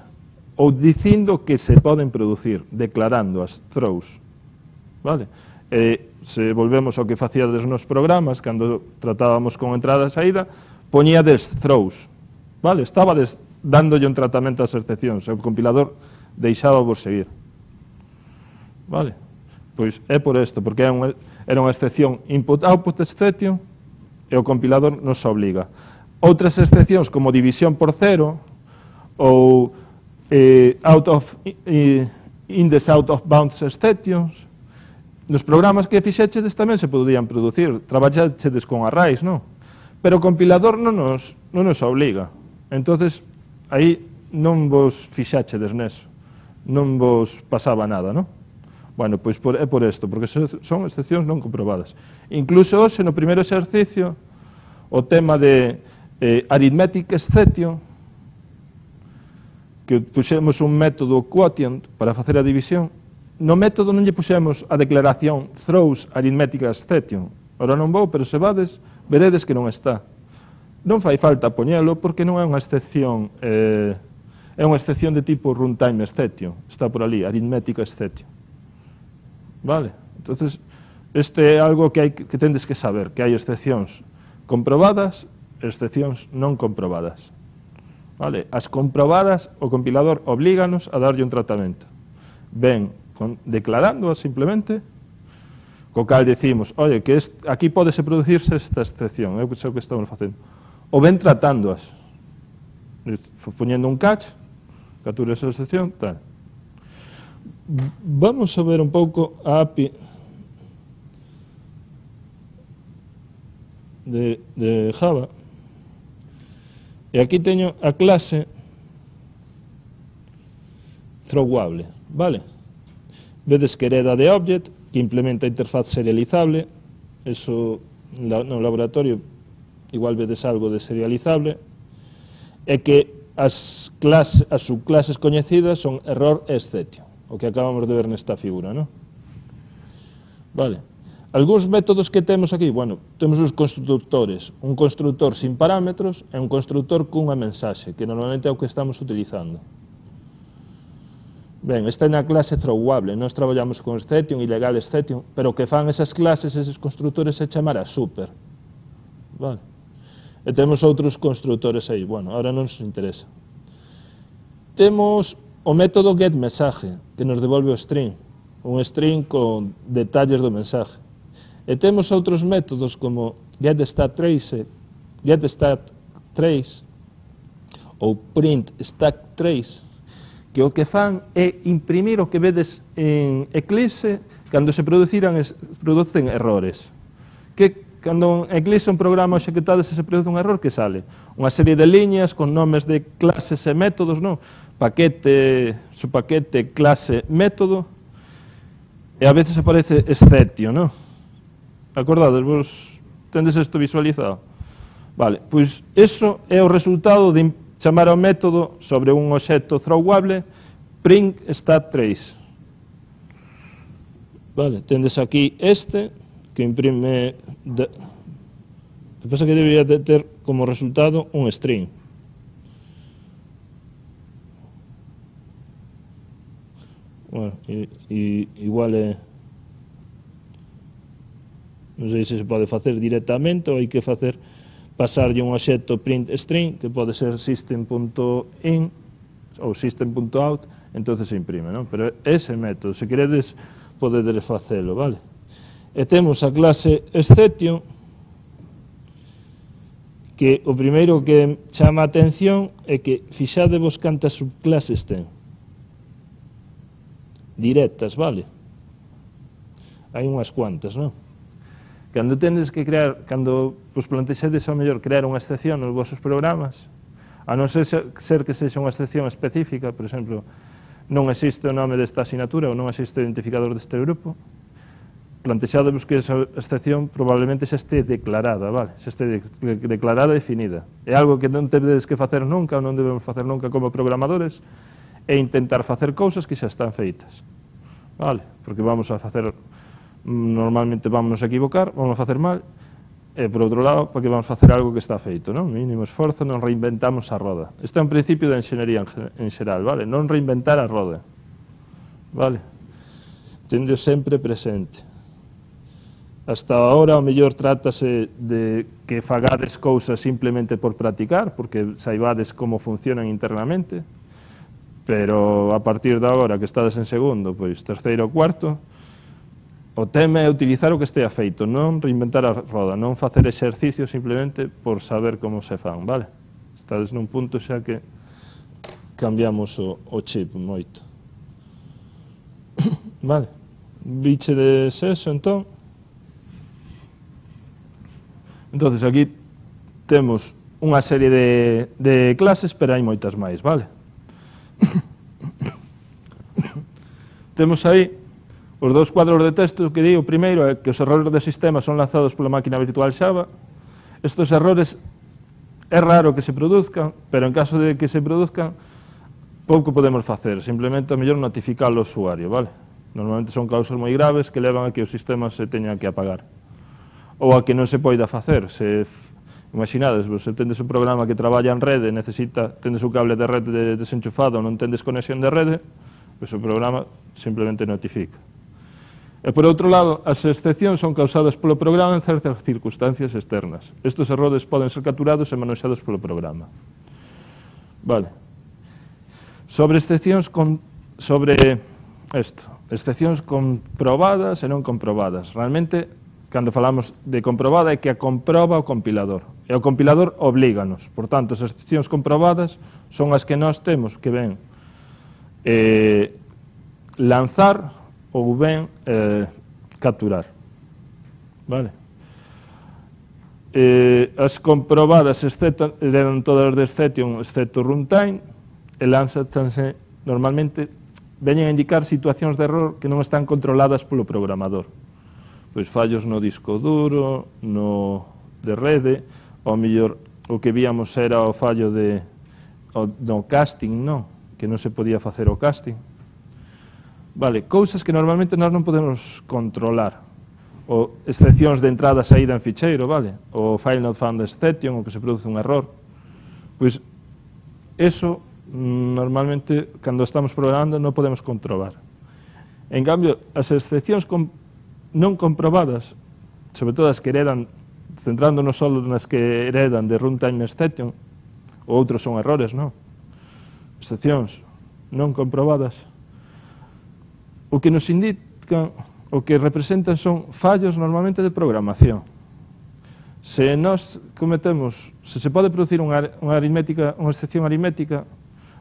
ou dicindo que se poden producir, declarando as throws, vale? E se volvemos ao que facíades nos programas, cando tratábamos con entrada e saída, poñíades throws, vale? Estabades dándolle un tratamento ás excepcións, e o compilador deixaba vos seguir, vale? Pois é por isto, porque era unha, era unha excepción input-output exception, e o compilador nos obliga. Outras excepcións, como división por cero, ou Eh, out of, eh, index out of bounds exceptions, nos programas que fixechedes tamén se podían producir, traballachedes con arrays, non? Pero o compilador non nos, non nos obliga, entonces aí non vos fixachedes neso, non vos pasaba nada, non? Bueno, pois por, é por isto, porque son excepcións non comprobadas. Incluso hoxe no primeiro exercicio, o tema de eh, arithmetic exception, que puxemos un método quotient para facer a división, no método non lle puxemos a declaración throws arithmetic exception. Ora non vou, pero se vades, veredes que non está. Non fai falta poñelo porque non é unha excepción, eh, é unha excepción de tipo runtime exception. Está por ali, arithmetic exception. Vale? Entonces, este é algo que, hai, que tendes que saber, que hai excepcións comprobadas e excepcións non comprobadas. Vale? As comprobadas, o compilador oblíganos a darlle un tratamento. Ben, con, declarándoas simplemente, co cal decimos, oye, que est, aquí podese producirse esta excepción, é o que estamos facendo. Ou ben tratándoas, poñendo un catch, captura esa excepción, tal. Vamos a ver un pouco a A P I de, de Java. E aquí teño a clase throwable, vale? Vedes que hereda de object, que implementa a interfaz serializable, eso no laboratorio igual vedes algo de serializable, e que as, clase, as subclases coñecidas son error e exception, o que acabamos de ver nesta figura, non? Vale. Algúns métodos que temos aquí, bueno, temos os constructores, un constructor sin parámetros e un constructor cunha mensaxe, que normalmente é o que estamos utilizando. Ben, esta é na clase throwable, nós traballamos con exception, ilegal exception, pero o que fan esas clases, eses constructores, é chamar a super. Vale. E temos outros constructores aí, bueno, ahora non nos interesa. Temos o método getMessage, que nos devolve o string, un string con detalles do mensaje. E temos outros métodos como getStatTrace, getStatTrace ou printStackTrace, que o que fan é imprimir o que vedes en Eclipse cando se produciran, producen errores. Que cando en Eclipse un programa executado se se produce un error, que sale? Unha serie de liñas con nomes de clases e métodos, non? Paquete, subpaquete, clase, método, e a veces aparece exception, non? Acordades, vos tendes isto visualizado? Vale, pois iso é o resultado de chamar ao método sobre un obxecto throwable printStatTrace. Vale, tendes aquí este, que imprime... De... O que pasa que debería de ter como resultado un string. Bueno, e, e, igual é... Non sei se se pode facer directamente ou hai que facer pasarlle un obxecto printString, que pode ser system.in ou system.out, entonces se imprime, non? Pero ese método, se queredes, podedes facelo, vale? E temos a clase exception, que o primeiro que chama a atención é que fixadevos cantas subclases ten. Directas, vale? Hai unhas cuantas, non? Cando tendes que crear, cando vos plantexedes ao mellor crear unha excepción nos vosos programas, a non ser, ser que sexa unha excepción específica, por exemplo, non existe o nome desta asignatura ou non existe o identificador deste grupo, plantexadevos que esa excepción probablemente xa este declarada, vale? Xa este de, de, declarada e definida. É algo que non tedes que facer nunca ou non debemos facer nunca como programadores, é intentar facer cousas que xa están feitas, vale? Porque vamos a facer... normalmente vamos a equivocar, vamos a facer mal, e por outro lado, porque vamos a facer algo que está feito, non? Mínimo esforzo, non reinventamos a roda. Este é un principio da enxeñería en xeral, vale? Non reinventar a roda, vale? Tendo sempre presente. Hasta ahora, o mellor trátase de que fagades cousas simplemente por practicar, porque saibades como funcionan internamente, pero a partir de agora que estades en segundo, pois terceiro ou cuarto, o tema é utilizar o que estea feito, non reinventar a roda, non facer exercicios simplemente por saber como se fan, vale? Estades nun punto xa que cambiamos o, o chip moito. Vale, biche de eso, entón. Entonces aquí temos unha serie de, de clases, pero hai moitas máis, vale? Temos aí os dous cuadros de texto que di, o primeiro é que os errores de sistema son lanzados pola máquina virtual Java. Estos errores é raro que se produzcan, pero en caso de que se produzcan, pouco podemos facer, simplemente a mellor notificar ao usuario, vale? Normalmente son causas moi graves que levan a que o sistema se teña que apagar. Ou a que non se poida facer. Se, imaginades, se tendes un programa que traballa en rede, necesita, tendes un cable de rede desenchufado, non tendes conexión de rede, pois o programa simplemente notifica. E, por outro lado, as excepcións son causadas polo programa en certas circunstancias externas. Estes errores poden ser capturados e manoxados polo programa. Vale. Sobre excepcións con, sobre isto, excepcións comprobadas e non comprobadas. Realmente, cando falamos de comprobada, é que a comproba o compilador. E o compilador oblíganos. Por tanto, as excepcións comprobadas son as que nós temos que ven eh, lanzar ou ben eh, capturar. Vale? Eh, as comprobadas excepto, eran todas de exception, excepto runtime, e lanzanse normalmente, veñen a indicar situacións de error que non están controladas polo programador. Pois fallos no disco duro, no de rede, ao mellor o que víamos era o fallo de, o, no casting, non? Que non se podía facer o casting. Vale, cousas que normalmente nós non podemos controlar. O excepcións de entrada e saída en ficheiro, vale? O file not found exception, o que se produce un error. Pois, eso, normalmente, cando estamos programando, non podemos comprobar. En cambio, as excepcións com, non comprobadas, sobre todo as que heredan, centrándonos só nas que heredan de runtime exception, ou outros son errores, non? Excepcións non comprobadas, o que nos indican, o que representan son fallos normalmente de programación. Se nós cometemos, se se pode producir unha, unha aritmética, unha excepción aritmética,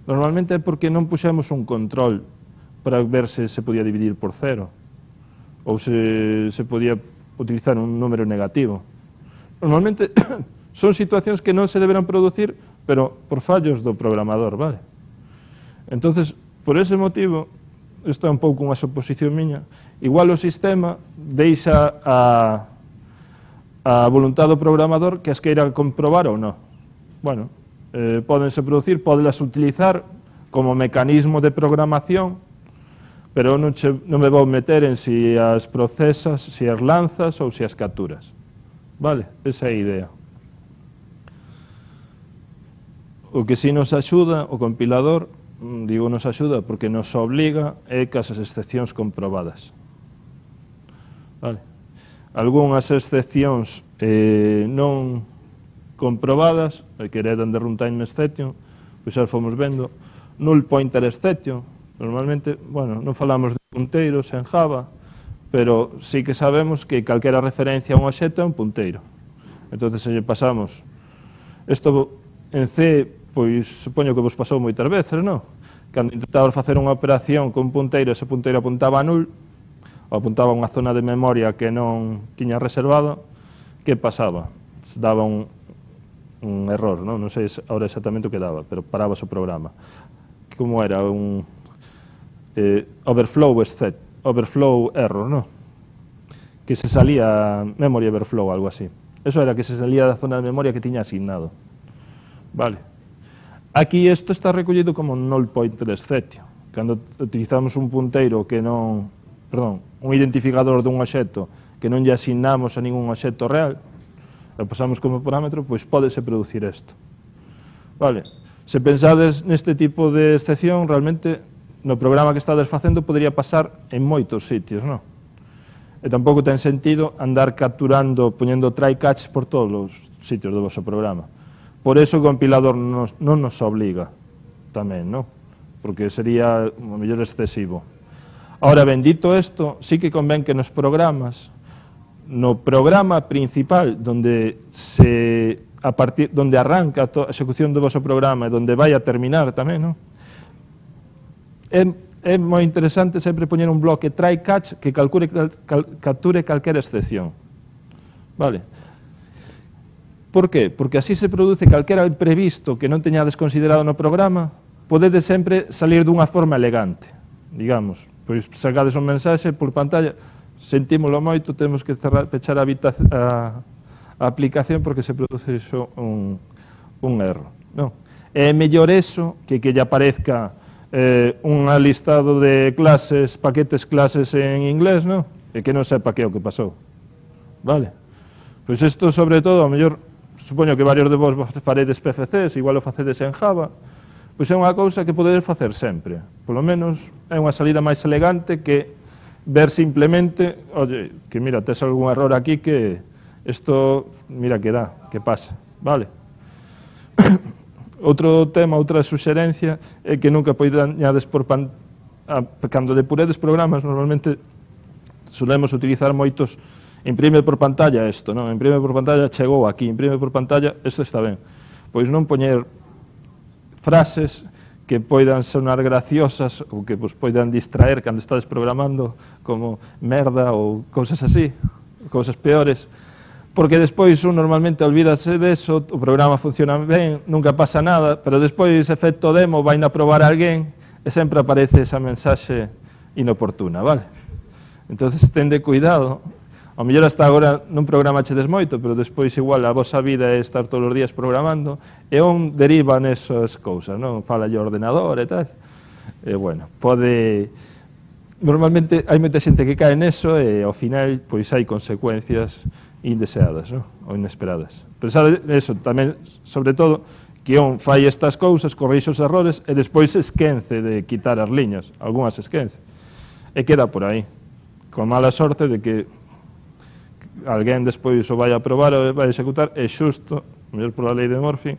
normalmente é porque non puxemos un control para ver se se podía dividir por cero, ou se se podía utilizar un número negativo. Normalmente son situacións que non se deberán producir, pero por fallos do programador, vale? Entonces, por ese motivo, isto é un pouco unha suposición miña, igual o sistema deixa a, a voluntad do programador que as queira comprobar ou non. Bueno, eh, pódense producir, pódelas utilizar como mecanismo de programación, pero non, che, non me vou meter en si as procesas, si as lanzas ou si as capturas. Vale, esa é a idea. O que si nos axuda o compilador, digo nos axuda porque nos obliga é que as excepcións comprobadas. Vale. Algúnas excepcións eh, non comprobadas, que heredan de runtime exception, pois xa fomos vendo, null pointer exception, normalmente, bueno, non falamos de punteiros en Java, pero sí que sabemos que calquera referencia a un obxecto é un punteiro. Entón, se lle pasamos, isto en C, pois supoño que vos pasou moitas veces, non? Cando intentabas facer unha operación con un punteiro, ese punteiro apuntaba a null, ou apuntaba a unha zona de memoria que non tiña reservado, que pasaba? Se daba un, un error, non? Non sei ahora exactamente o que daba, pero paraba o programa. Como era? Un eh, overflow except, overflow error, non? Que se salía memory overflow, algo así. Eso era que se salía da zona de memoria que tiña asignado. Vale. Aquí isto está recollido como null pointer exception. Cando utilizamos un punteiro que non, perdón, un identificador dun obxecto que non lle asignamos a ningún obxecto real, lo pasamos como parámetro, pois pódese producir isto. Vale. Se pensades neste tipo de excepción, realmente no programa que estades facendo podría pasar en moitos sitios, non? E tampouco ten sentido andar capturando, poñendo try catch por todos os sitios do vosso programa. Por eso o compilador nos, non nos obliga tamén, non? Porque sería o mellor excesivo. Ahora, bendito isto, sí que convén que nos programas, no programa principal, donde se a partir donde arranca a execución do voso programa e donde vai a terminar tamén, non? É, é moi interesante sempre poñer un bloque try catch que calcule, cal, capture calquera excepción. Vale? Por qué? Porque así se produce calquera imprevisto que non teñades considerado no programa, podedes sempre salir dunha forma elegante. Digamos, pois sacades un mensaxe por pantalla, sentímolo moito, temos que cerrar, pechar a, a, a aplicación porque se produce iso un, un erro. Non? É mellor eso que que lle aparezca eh, un listado de clases, paquetes clases en inglés, non? E que non sepa que é o que pasou. Vale? Pois isto, sobre todo, a mellor, supoño que varios de vos faredes P F Cs, igual o facedes en Java, pois é unha cousa que podedes facer sempre. Polo menos é unha salida máis elegante que ver simplemente, oye, que mira, tes algún error aquí que isto, mira que dá, que pasa, vale? Outro tema, outra suxerencia é que nunca poñades por pan... Ah, cando depuredes programas, normalmente solemos utilizar moitos imprime por pantalla isto, non? Imprime por pantalla chegou aquí, imprime por pantalla, isto está ben. Pois non poñer frases que poidan sonar graciosas ou que vos poidan distraer cando estades programando, como merda ou cousas así, cousas peores, porque despois un normalmente olvídase deso, o programa funciona ben, nunca pasa nada, pero despois efecto demo vai na probar a alguén e sempre aparece esa mensaxe inoportuna, vale? Entonces, tende cuidado. Ao mellor hasta agora non programachedes moito, pero despois igual a vosa vida é estar todos os días programando e on derivan esas cousas, non? Fala o ordenador e tal. E, bueno, pode... Normalmente hai moita xente que cae neso e ao final pois hai consecuencias indeseadas, non? Ou inesperadas. Pensade eso tamén, sobre todo, que on fai estas cousas, corrixe os errores e despois esquence de quitar as liñas, algunhas esquence. E queda por aí, con mala sorte de que alguén despois o vai a probar ou vai a executar e xusto, mellor pola lei de Murphy,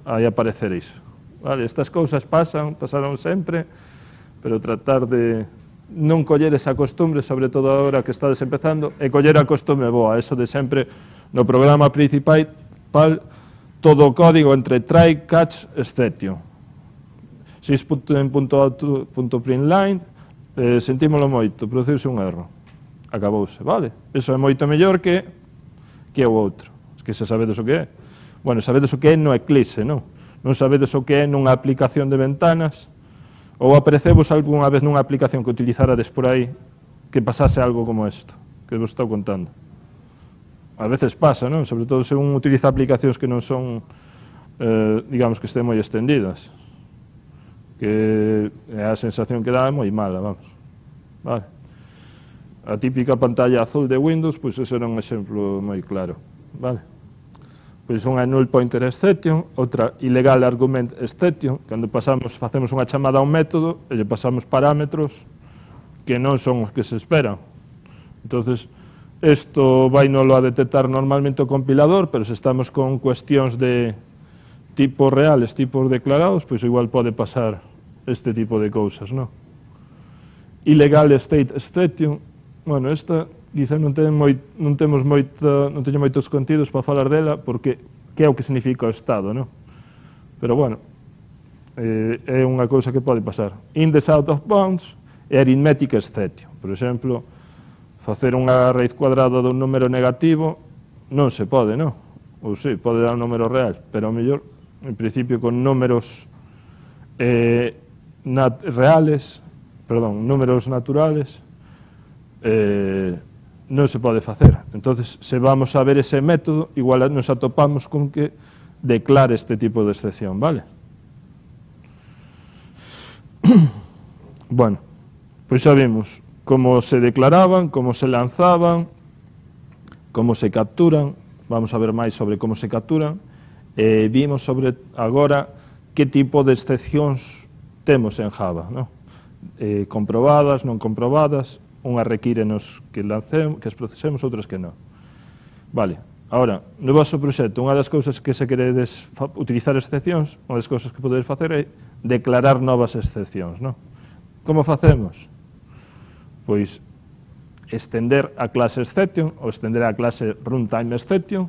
vai aparecer iso. Vale, estas cousas pasan, pasaron sempre, pero tratar de non coller esa costumbre, sobre todo agora que estades empezando, e coller a costumbre boa, eso de sempre no programa principal, todo o código entre try, catch, exception. six.out.println, eh, sentímolo moito, produciuse un erro. Acabouse, vale? Eso é moito mellor que que o outro. Es que se sabedes o que é. Bueno, sabedes o que é no Eclipse, non? Non sabedes o que é nunha aplicación de ventanas, ou aparecevos algunha vez nunha aplicación que utilizarades por aí que pasase algo como isto, que vos estou contando. A veces pasa, non? Sobre todo se un utiliza aplicacións que non son, eh, digamos, que estén moi extendidas. Que a sensación que dá é moi mala, vamos. Vale? A típica pantalla azul de Windows, pois eso era un exemplo moi claro, vale? Pois unha null pointer exception, outra illegal argument exception, cando pasamos, facemos unha chamada a un método e lle pasamos parámetros que non son os que se esperan. Entonces, isto vai nolo a detectar normalmente o compilador, pero se estamos con cuestións de tipos reales, tipos declarados, pois igual pode pasar este tipo de cousas, non? Illegal state exception. Bueno, esta quizá non, ten moi, non, temos moita, non teño moitos contidos para falar dela, porque que é o que significa o estado, non? Pero, bueno, eh, é unha cousa que pode pasar. Index out of bounds e arithmetic exception. Por exemplo, facer unha raíz cuadrada dun número negativo non se pode, non? Ou sí, pode dar un número real, pero ao mellor, en principio, con números eh, nat reales, perdón, números naturales, Eh, non se pode facer. Entonces, se vamos a ver ese método, igual nos atopamos con que declare este tipo de excepción, vale? Bueno, pois xa vimos como se declaraban, como se lanzaban, como se capturan, vamos a ver máis sobre como se capturan, e vimos sobre agora que tipo de excepcións temos en Java, non? Eh, comprobadas, non comprobadas, unhas requírenos que lancemos, que as procesemos, outras que non. Vale, agora, no vosso proxecto, unha das cousas que se queredes utilizar excepcións, unha das cousas que podedes facer é declarar novas excepcións, non? Como facemos? Pois, estender a clase exception, ou estender a clase runtime exception,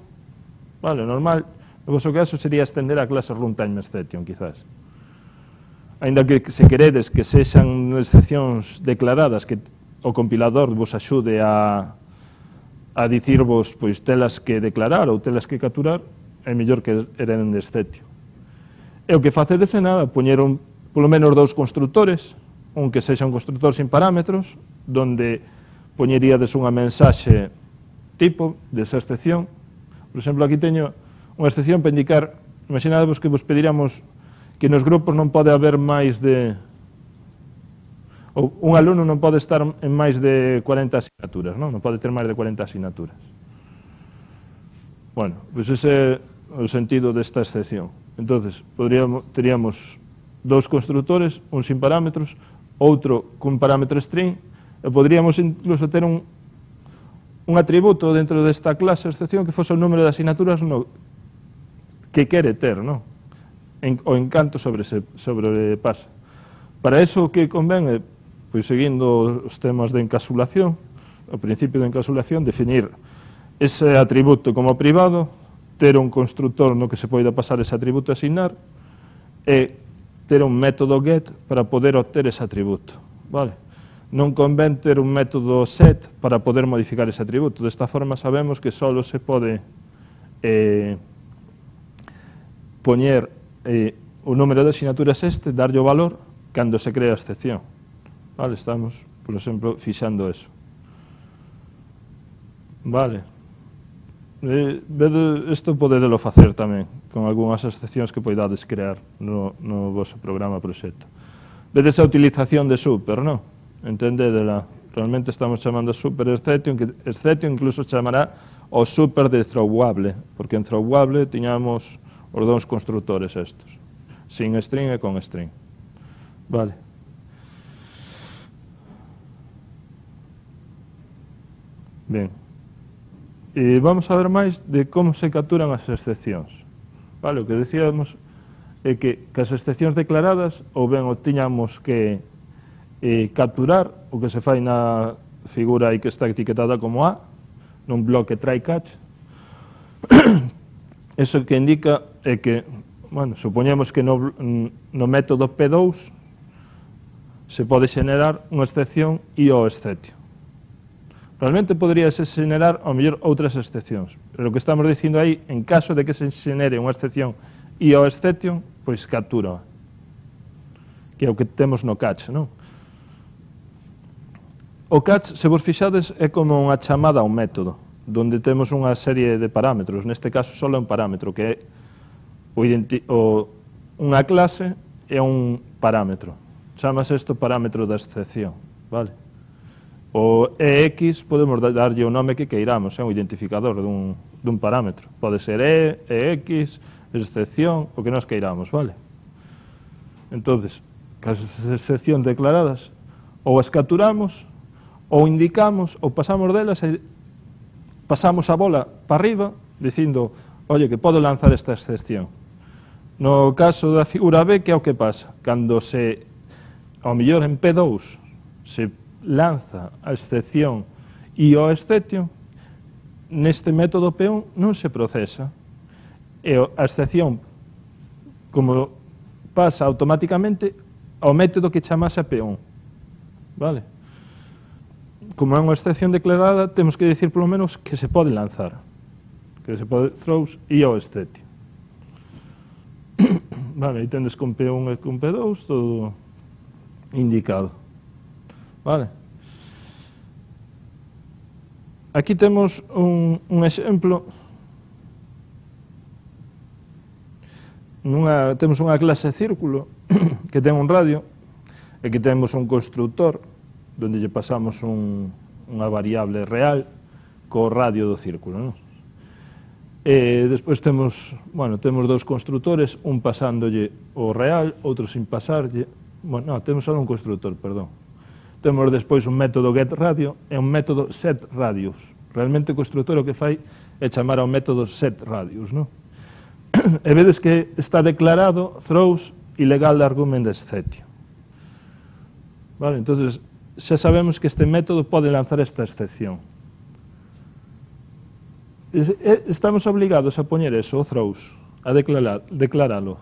vale, normal, no vosso caso sería estender a clase runtime exception, quizás. Ainda que se queredes que sexan excepcións declaradas, que o compilador vos axude a, a dicirvos pois telas que declarar ou telas que capturar, é mellor que eren de exception. E o que facedes é nada, poñer un, polo menos dous constructores, un que sexa un constructor sin parámetros, donde poñeríades unha mensaxe tipo desa excepción. Por exemplo, aquí teño unha excepción para indicar, imaginadevos que vos pediríamos que nos grupos non pode haber máis de... ou un alumno non pode estar en máis de cuarenta asignaturas, non? Non pode ter máis de cuarenta asignaturas. Bueno, pois ese é o sentido desta excepción. Entonces, podríamos, teríamos dous constructores, un sin parámetros, outro con parámetro string, e podríamos incluso ter un, un atributo dentro desta clase excepción que fose o número de asignaturas no, que quere ter, non? En, o encanto sobre se, sobrepasa. Para eso o que convén é, pois seguindo os temas de encapsulación, o principio de encapsulación, definir ese atributo como privado, ter un constructor no que se poida pasar ese atributo a asignar, e ter un método get para poder obter ese atributo, vale? Non convén ter un método set para poder modificar ese atributo. Desta forma sabemos que só se pode eh, poñer eh, o número de asignaturas este, darlle o valor, cando se crea a excepción. Vale, estamos, por exemplo, fixando eso. Vale. Eh, isto podedelo facer tamén, con algunhas excepcións que poidades crear no, no vosso programa proxecto. Vedes a utilización de super, non? Entendedela. Realmente estamos chamando super exception, que exception incluso chamará o super de throwable, porque en throwable tiñamos os dous constructores estos, sin string e con string. Vale. Ben. E vamos a ver máis de como se capturan as excepcións. Vale, o que decíamos é que, que as excepcións declaradas ou ben o tiñamos que eh, capturar, o que se fai na figura aí que está etiquetada como A, nun bloque try catch. Eso que indica é que, bueno, supoñemos que no, no método P dous se pode xenerar unha excepción I O exception. Realmente poderíase xenerar, ao mellor, outras excepcións. Pero o que estamos dicindo aí, en caso de que se xenere unha excepción I O exception, pois captura, que é o que temos no catch, non? O catch, se vos fixades, é como unha chamada a un método, donde temos unha serie de parámetros. Neste caso, só é un parámetro, que é o o, unha clase é un parámetro. Chamase isto parámetro da excepción, vale? O E X podemos darlle o nome que queiramos, é un identificador dun, dun parámetro. Pode ser E, EX, excepción, o que nos queiramos, vale? Entonces, as excepcións declaradas, ou as capturamos, ou indicamos, ou pasamos delas e pasamos a bola para arriba, dicindo, oye, que podo lanzar esta excepción. No caso da figura B, que é o que pasa? Cando se, ao mellor en P dous, se lanza a excepción I O exception, neste método P un non se procesa, e a excepción como pasa automáticamente ao método que chamase a P un, vale? Como é unha excepción declarada, temos que dicir polo menos que se pode lanzar, que se pode throws I O exception. Vale, aí tendes con P un e con P dous todo indicado. Vale. Aquí temos un, un exemplo. Nunha, temos unha clase círculo que ten un radio e que temos un constructor donde lle pasamos un, unha variable real co radio do círculo, non? E despois temos, bueno, temos dous constructores, un pasándolle o real, outro sin pasarlle. Bueno, no, temos só un constructor, perdón. Temos despois un método getRadio e un método setRadius. Realmente o constructor o que fai é chamar ao método setRadius, non? E vedes que está declarado throws ilegal argument exception. Vale, entonces xa sabemos que este método pode lanzar esta excepción. Estamos obligados a poñer eso, o throws, a declarar, declaralo.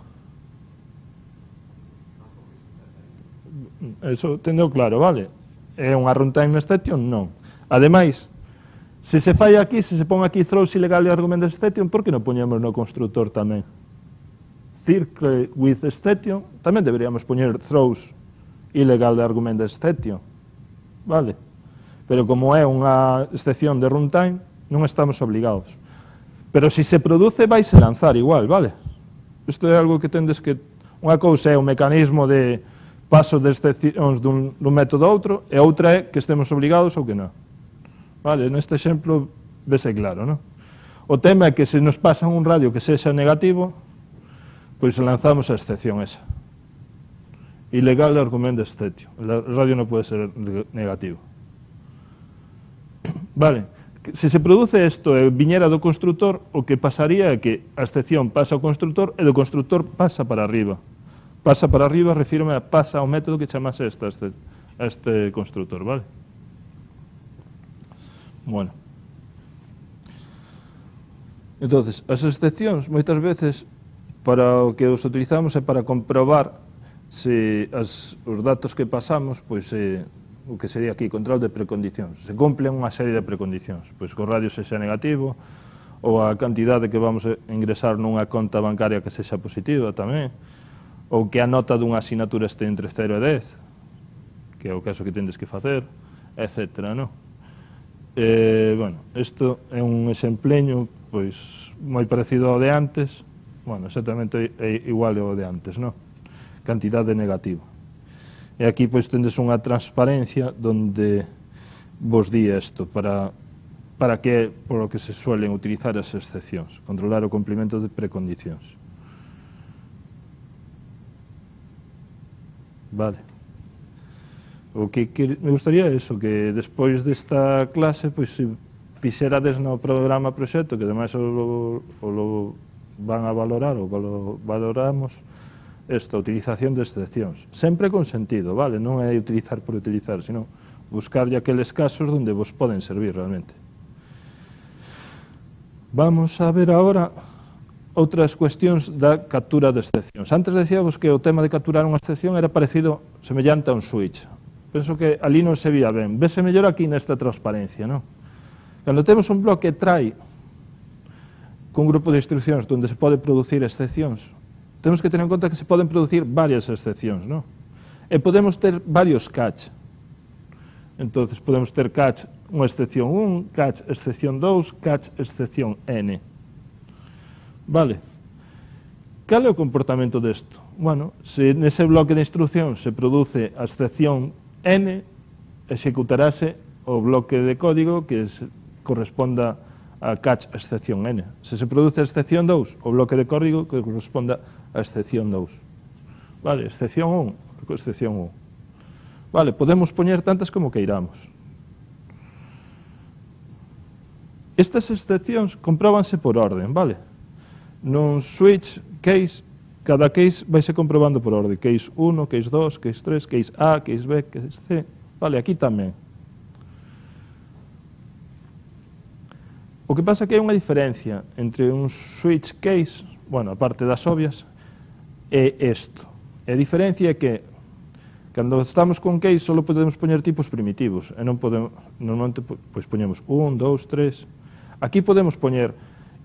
Eso tendo claro, vale? É unha runtime exception? Non. Ademais, se se fai aquí, se se pon aquí throws ilegal argument exception, por que non poñemos no constructor tamén? Circle with exception, tamén deberíamos poñer throws ilegal argument exception, vale? Pero como é unha excepción de runtime, non estamos obligados. Pero se se produce, vaise lanzar igual, vale? Isto é algo que tendes que... Unha cousa é o mecanismo de paso de excepcións dun, dun método a outro, e outra é que estemos obligados ou que non. Vale, neste exemplo vese claro, non? O tema é que se nos pasan un radio que sexa negativo, pois lanzamos a excepción esa. Ilegal argument exception. El radio non pode ser negativo. Vale, se se produce isto e viñera do constructor, o que pasaría é que a excepción pasa ao constructor e do constructor pasa para arriba. Pasa para arriba, refírome a pasa ao método que chamase esta, este, este constructor, vale? Bueno. Entonces, as excepcións, moitas veces, para o que os utilizamos é para comprobar se as, os datos que pasamos, pois, eh, o que sería aquí, control de precondicións, se cumplen unha serie de precondicións, pois que o radio sexa negativo, ou a cantidade que vamos a ingresar nunha conta bancaria que sexa positiva tamén, ou que a nota dunha asignatura este entre cero e dez, que é o caso que tendes que facer, etcétera, non? Eh, bueno, isto é un exempleño, pois, moi parecido ao de antes, bueno, exactamente é igual ao de antes, non? Cantidade negativa. E aquí, pois, tendes unha transparencia donde vos di isto, para, para que, por lo que se suelen utilizar as excepcións, controlar o cumprimento de precondicións. Vale. O que, que me gustaría é eso, que despois desta clase, pois, se fixerades no programa proxecto, que ademais o, o lo van a valorar, ou lo valoramos, esta utilización de excepcións. Sempre con sentido, vale? Non é utilizar por utilizar, sino buscarlle aqueles casos onde vos poden servir realmente. Vamos a ver agora outras cuestións da captura de excepcións. Antes decíamos que o tema de capturar unha excepción era parecido, semellante a un switch. Penso que ali non se vía ben. Vese mellor aquí nesta transparencia, non? Cando temos un bloque try cun grupo de instruccións onde se pode producir excepcións, temos que tener en conta que se poden producir varias excepcións, non? E podemos ter varios catch. Entón, podemos ter catch unha excepción un, catch excepción dous, catch excepción n. Vale. Cal é o comportamento desto? Bueno, se nese bloque de instruccións se produce a excepción n, executarase o bloque de código que se corresponda a catch excepción n. Se se produce a excepción dous, o bloque de código que corresponda a excepción dous. Vale, excepción un, excepción un. Vale, podemos poñer tantas como queiramos. Estas excepcións compróbanse por orden, vale? Nun switch case, cada case vaise comprobando por orden. Case un, case dos, case tres, case A, case B, case C. Vale, aquí tamén. O que pasa é que hai unha diferencia entre un switch case, bueno, a parte das obvias, e isto. E a diferencia é que cando estamos con case só podemos poñer tipos primitivos, e non podemos, normalmente pois poñemos un, dous, tres. Aquí podemos poñer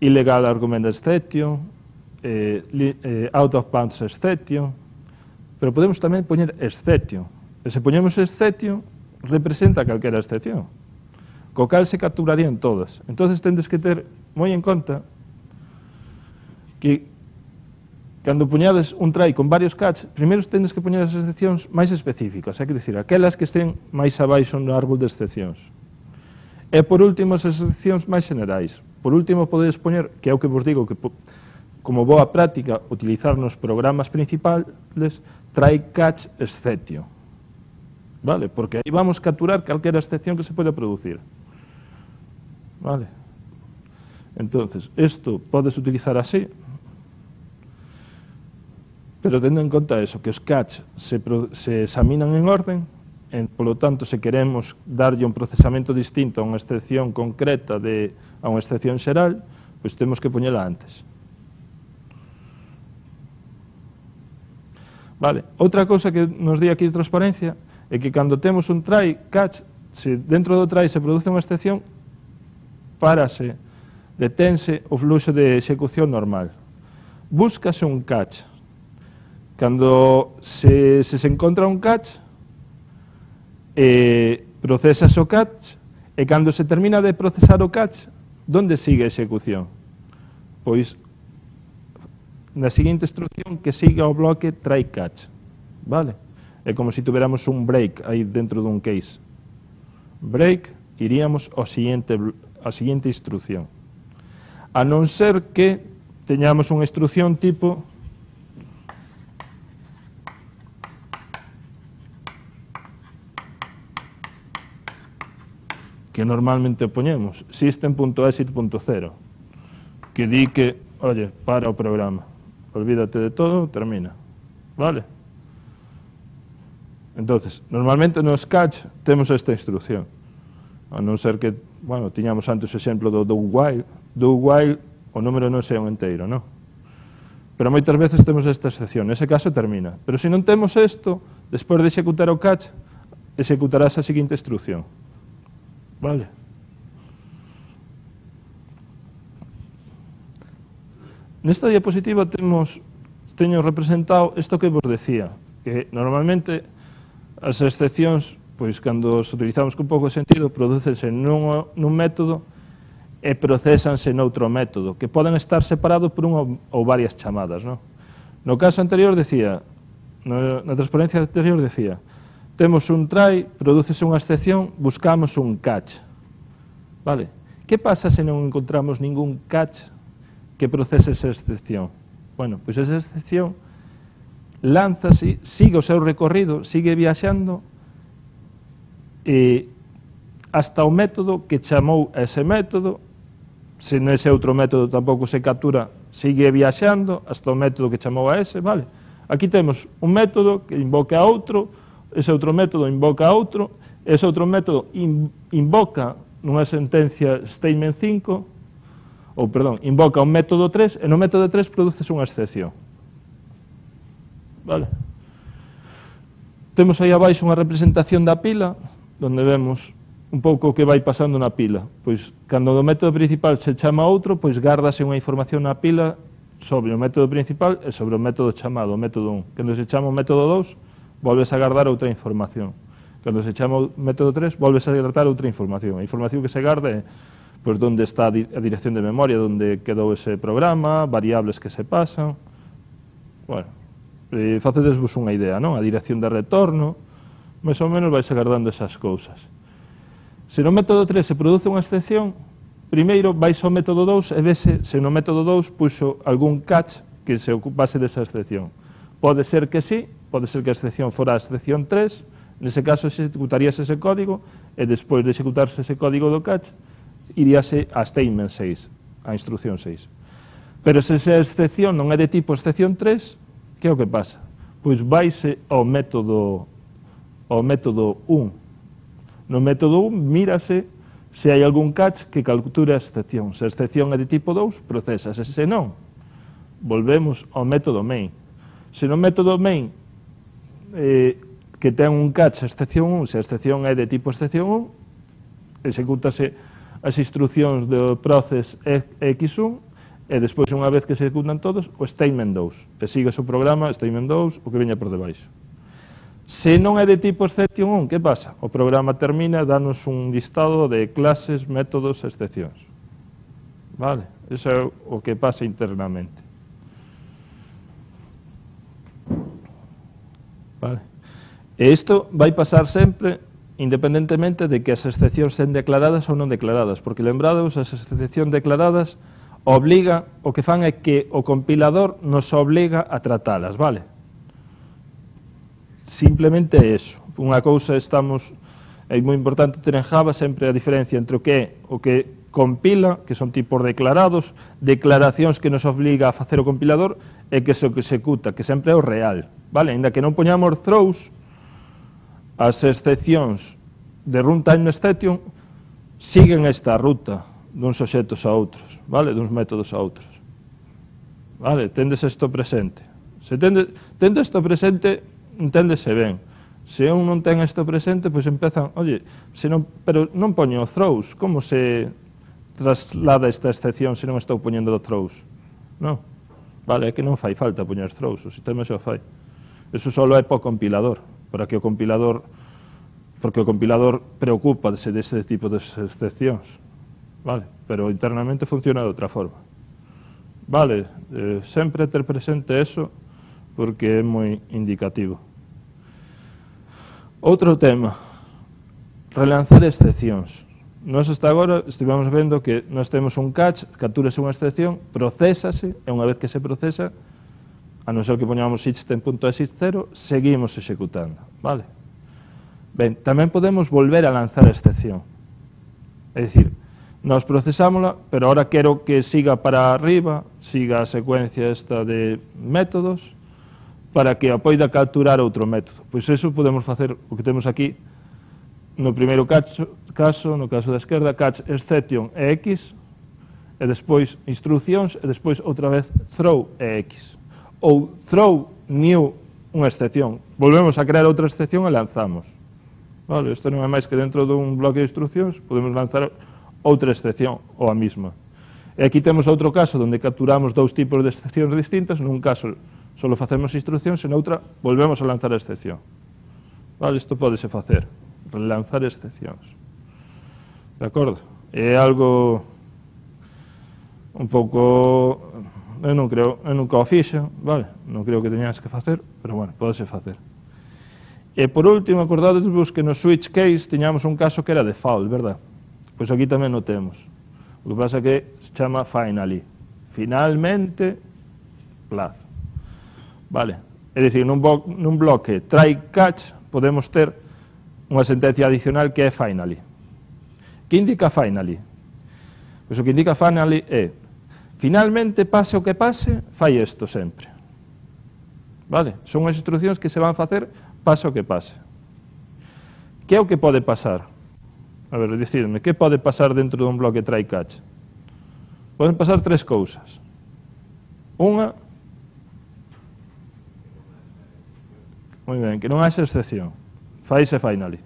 illegal argument exception, eh, eh, out of bounds exception, pero podemos tamén poñer exception. E se poñemos exception, representa calquera excepción, co cal se capturarían todas. Entonces tendes que ter moi en conta que cando poñades un try con varios catch, primeiro tendes que poñer as excepcións máis específicas, é que dicir, aquelas que estén máis abaixo no árbol de excepcións. E por último, as excepcións máis generais. Por último, podedes poñer, que é o que vos digo, que como boa práctica utilizar nos programas principales, try catch exception. Vale? Porque aí vamos capturar calquera excepción que se pode producir. Vale? Entonces, isto podes utilizar así, pero tendo en conta eso, que os catch se, se examinan en orden, en, polo tanto, se queremos darlle un procesamento distinto a unha excepción concreta de, a unha excepción xeral, pois temos que poñela antes. Vale, outra cousa que nos di aquí de transparencia é que cando temos un try catch, se dentro do try se produce unha excepción, párase, detense o fluxo de execución normal. Búscase un catch. Cando se se, se encontra un catch, eh, procesase o catch, e cando se termina de procesar o catch, donde sigue a execución? Pois na seguinte instrucción que siga o bloque try catch. Vale? É como se tuviéramos un break aí dentro dun case. Break, iríamos ao siguiente, a siguiente instrucción. A non ser que teñamos unha instrucción tipo que normalmente poñemos, system.exit.zero, que di que, oye, para o programa, olvídate de todo, termina. Vale? Entonces, normalmente nos catch temos esta instrucción, a non ser que, bueno, tiñamos antes o exemplo do do while, do while o número non sea un enteiro, non? Pero moitas veces temos esta excepción, nese caso termina. Pero se non temos isto, despois de executar o catch, executarás a seguinte instrucción. Vale? Nesta diapositiva temos, teño representado isto que vos decía, que normalmente as excepcións, pois cando os utilizamos con pouco sentido, prodúcense nun, nun método e procesanse noutro método, que poden estar separados por unha ou varias chamadas, non? No caso anterior decía, no, na transparencia anterior decía, temos un try, prodúcese unha excepción, buscamos un catch. Vale? Que pasa se non encontramos ningún catch que procese esa excepción? Bueno, pois esa excepción lánzase, sigue o seu recorrido, sigue viaxando e hasta o método que chamou a ese método. Se nese outro método tampouco se captura, sigue viaxando hasta o método que chamou a ese, vale? Aquí temos un método que invoca a outro, ese outro método invoca a outro, ese outro método in, invoca nunha sentencia statement cinco, ou perdón, invoca un método tres, e no método tres produces unha excepción. Vale? Temos aí abaixo unha representación da pila, onde vemos un pouco o que vai pasando na pila. Pois, cando o método principal se chama outro, pois gárdase unha información na pila sobre o método principal e sobre o método chamado, o método un. Cando se chama o método dous, volves a gardar outra información. Cando se chama o método tres, volves a gardar outra información. A información que se garda é pois, onde está a dirección de memoria, onde quedou ese programa, variables que se pasan. Bueno, eh, facedesvos unha idea, non? A dirección de retorno, máis ou menos vais agardando esas cousas. Se no método tres se produce unha excepción, primeiro vais ao método dous e vese se no método dous puxo algún catch que se ocupase desa excepción. Pode ser que sí, pode ser que a excepción fora a excepción tres, nese caso executaríase ese código e despois de executarse ese código do catch, iríase a statement seis, a instrucción seis. Pero se esa excepción non é de tipo excepción tres, que é o que pasa? Pois vaise ao método, ao método un. No método un, mírase se hai algún catch que capture a excepción. Se a excepción é de tipo dous, procesa. Se non, volvemos ao método main. Se no método main eh, que ten un catch a excepción un, se a excepción é de tipo excepción un, execútase as instruccións do process equis un e despois, unha vez que se executan todos, o statement dous. E sigue o programa, statement dous, o que veña por debaixo. Se non é de tipo exception un, que pasa? O programa termina e danos un listado de clases, métodos e excepcións. Vale? Iso é o que pasa internamente. Vale? E isto vai pasar sempre independentemente de que as excepcións sen declaradas ou non declaradas, porque lembrados, as excepcións declaradas obliga, o que fan é que o compilador nos obliga a tratalas, vale? Simplemente é eso. Unha cousa estamos, é moi importante ter en Java sempre a diferencia entre o que é o que compila, que son tipos declarados, declaracións que nos obliga a facer o compilador, e que se o que executa, que sempre é o real, vale? Ainda que non poñamos throws, as excepcións de runtime exception siguen esta ruta duns obxectos a outros, vale? Duns métodos a outros. Vale? Tendes isto presente. Se tende, tende isto presente, enténdese ben. Se un non ten isto presente, pois empezan, oye, se non, pero non poño throws, como se traslada esta excepción se non estou poñendo throws? Non. Vale, é que non fai falta poñer throws, o sistema xa fai. Eso só é para o compilador, para que o compilador, porque o compilador preocúpase dese tipo de excepcións. Vale, pero internamente funciona de outra forma. Vale, eh, sempre ter presente eso, porque é moi indicativo. Outro tema, relanzar excepcións. Nós hasta agora estivemos vendo que nós temos un catch, capturase unha excepción, procésase, e unha vez que se procesa, a non ser que poñamos system.exist cero, seguimos executando, vale? Ben, tamén podemos volver a lanzar a excepción. É dicir, nós procesámola, pero ahora quero que siga para arriba, siga a secuencia esta de métodos, para que a poida capturar outro método. Pois iso podemos facer o que temos aquí no primeiro caso, caso no caso da esquerda, catch exception e x, e despois instruccións, e despois outra vez throw e x. ou throw new unha excepción. Volvemos a crear outra excepción e lanzamos. Vale, isto non é máis que dentro dun bloque de instruccións podemos lanzar outra excepción ou a mesma. E aquí temos outro caso onde capturamos dous tipos de excepcións distintas. Nun caso só facemos instruccións e noutra volvemos a lanzar a excepción. Vale, isto pódese facer, relanzar excepcións. De acordo? É algo un pouco... Eu non creo, eu nunca o fixen, vale? Non creo que teñas que facer, pero bueno, pódese facer. E por último, acordadevos que no switch case tiñamos un caso que era default, verdad? Pois aquí tamén o temos. O que pasa é que se chama finally. Finalmente, plazo. Vale? É dicir, nun, nun bloque try catch podemos ter unha sentencia adicional que é finally. Que indica finally? Pois o que indica finally é finalmente, pase o que pase, fai isto sempre. Vale? Son as instruccións que se van facer, pase o que pase. Que é o que pode pasar? A ver, decidme, que pode pasar dentro dun bloque try catch? Poden pasar tres cousas. Unha, moi ben, que non haxa excepción. Faise finally.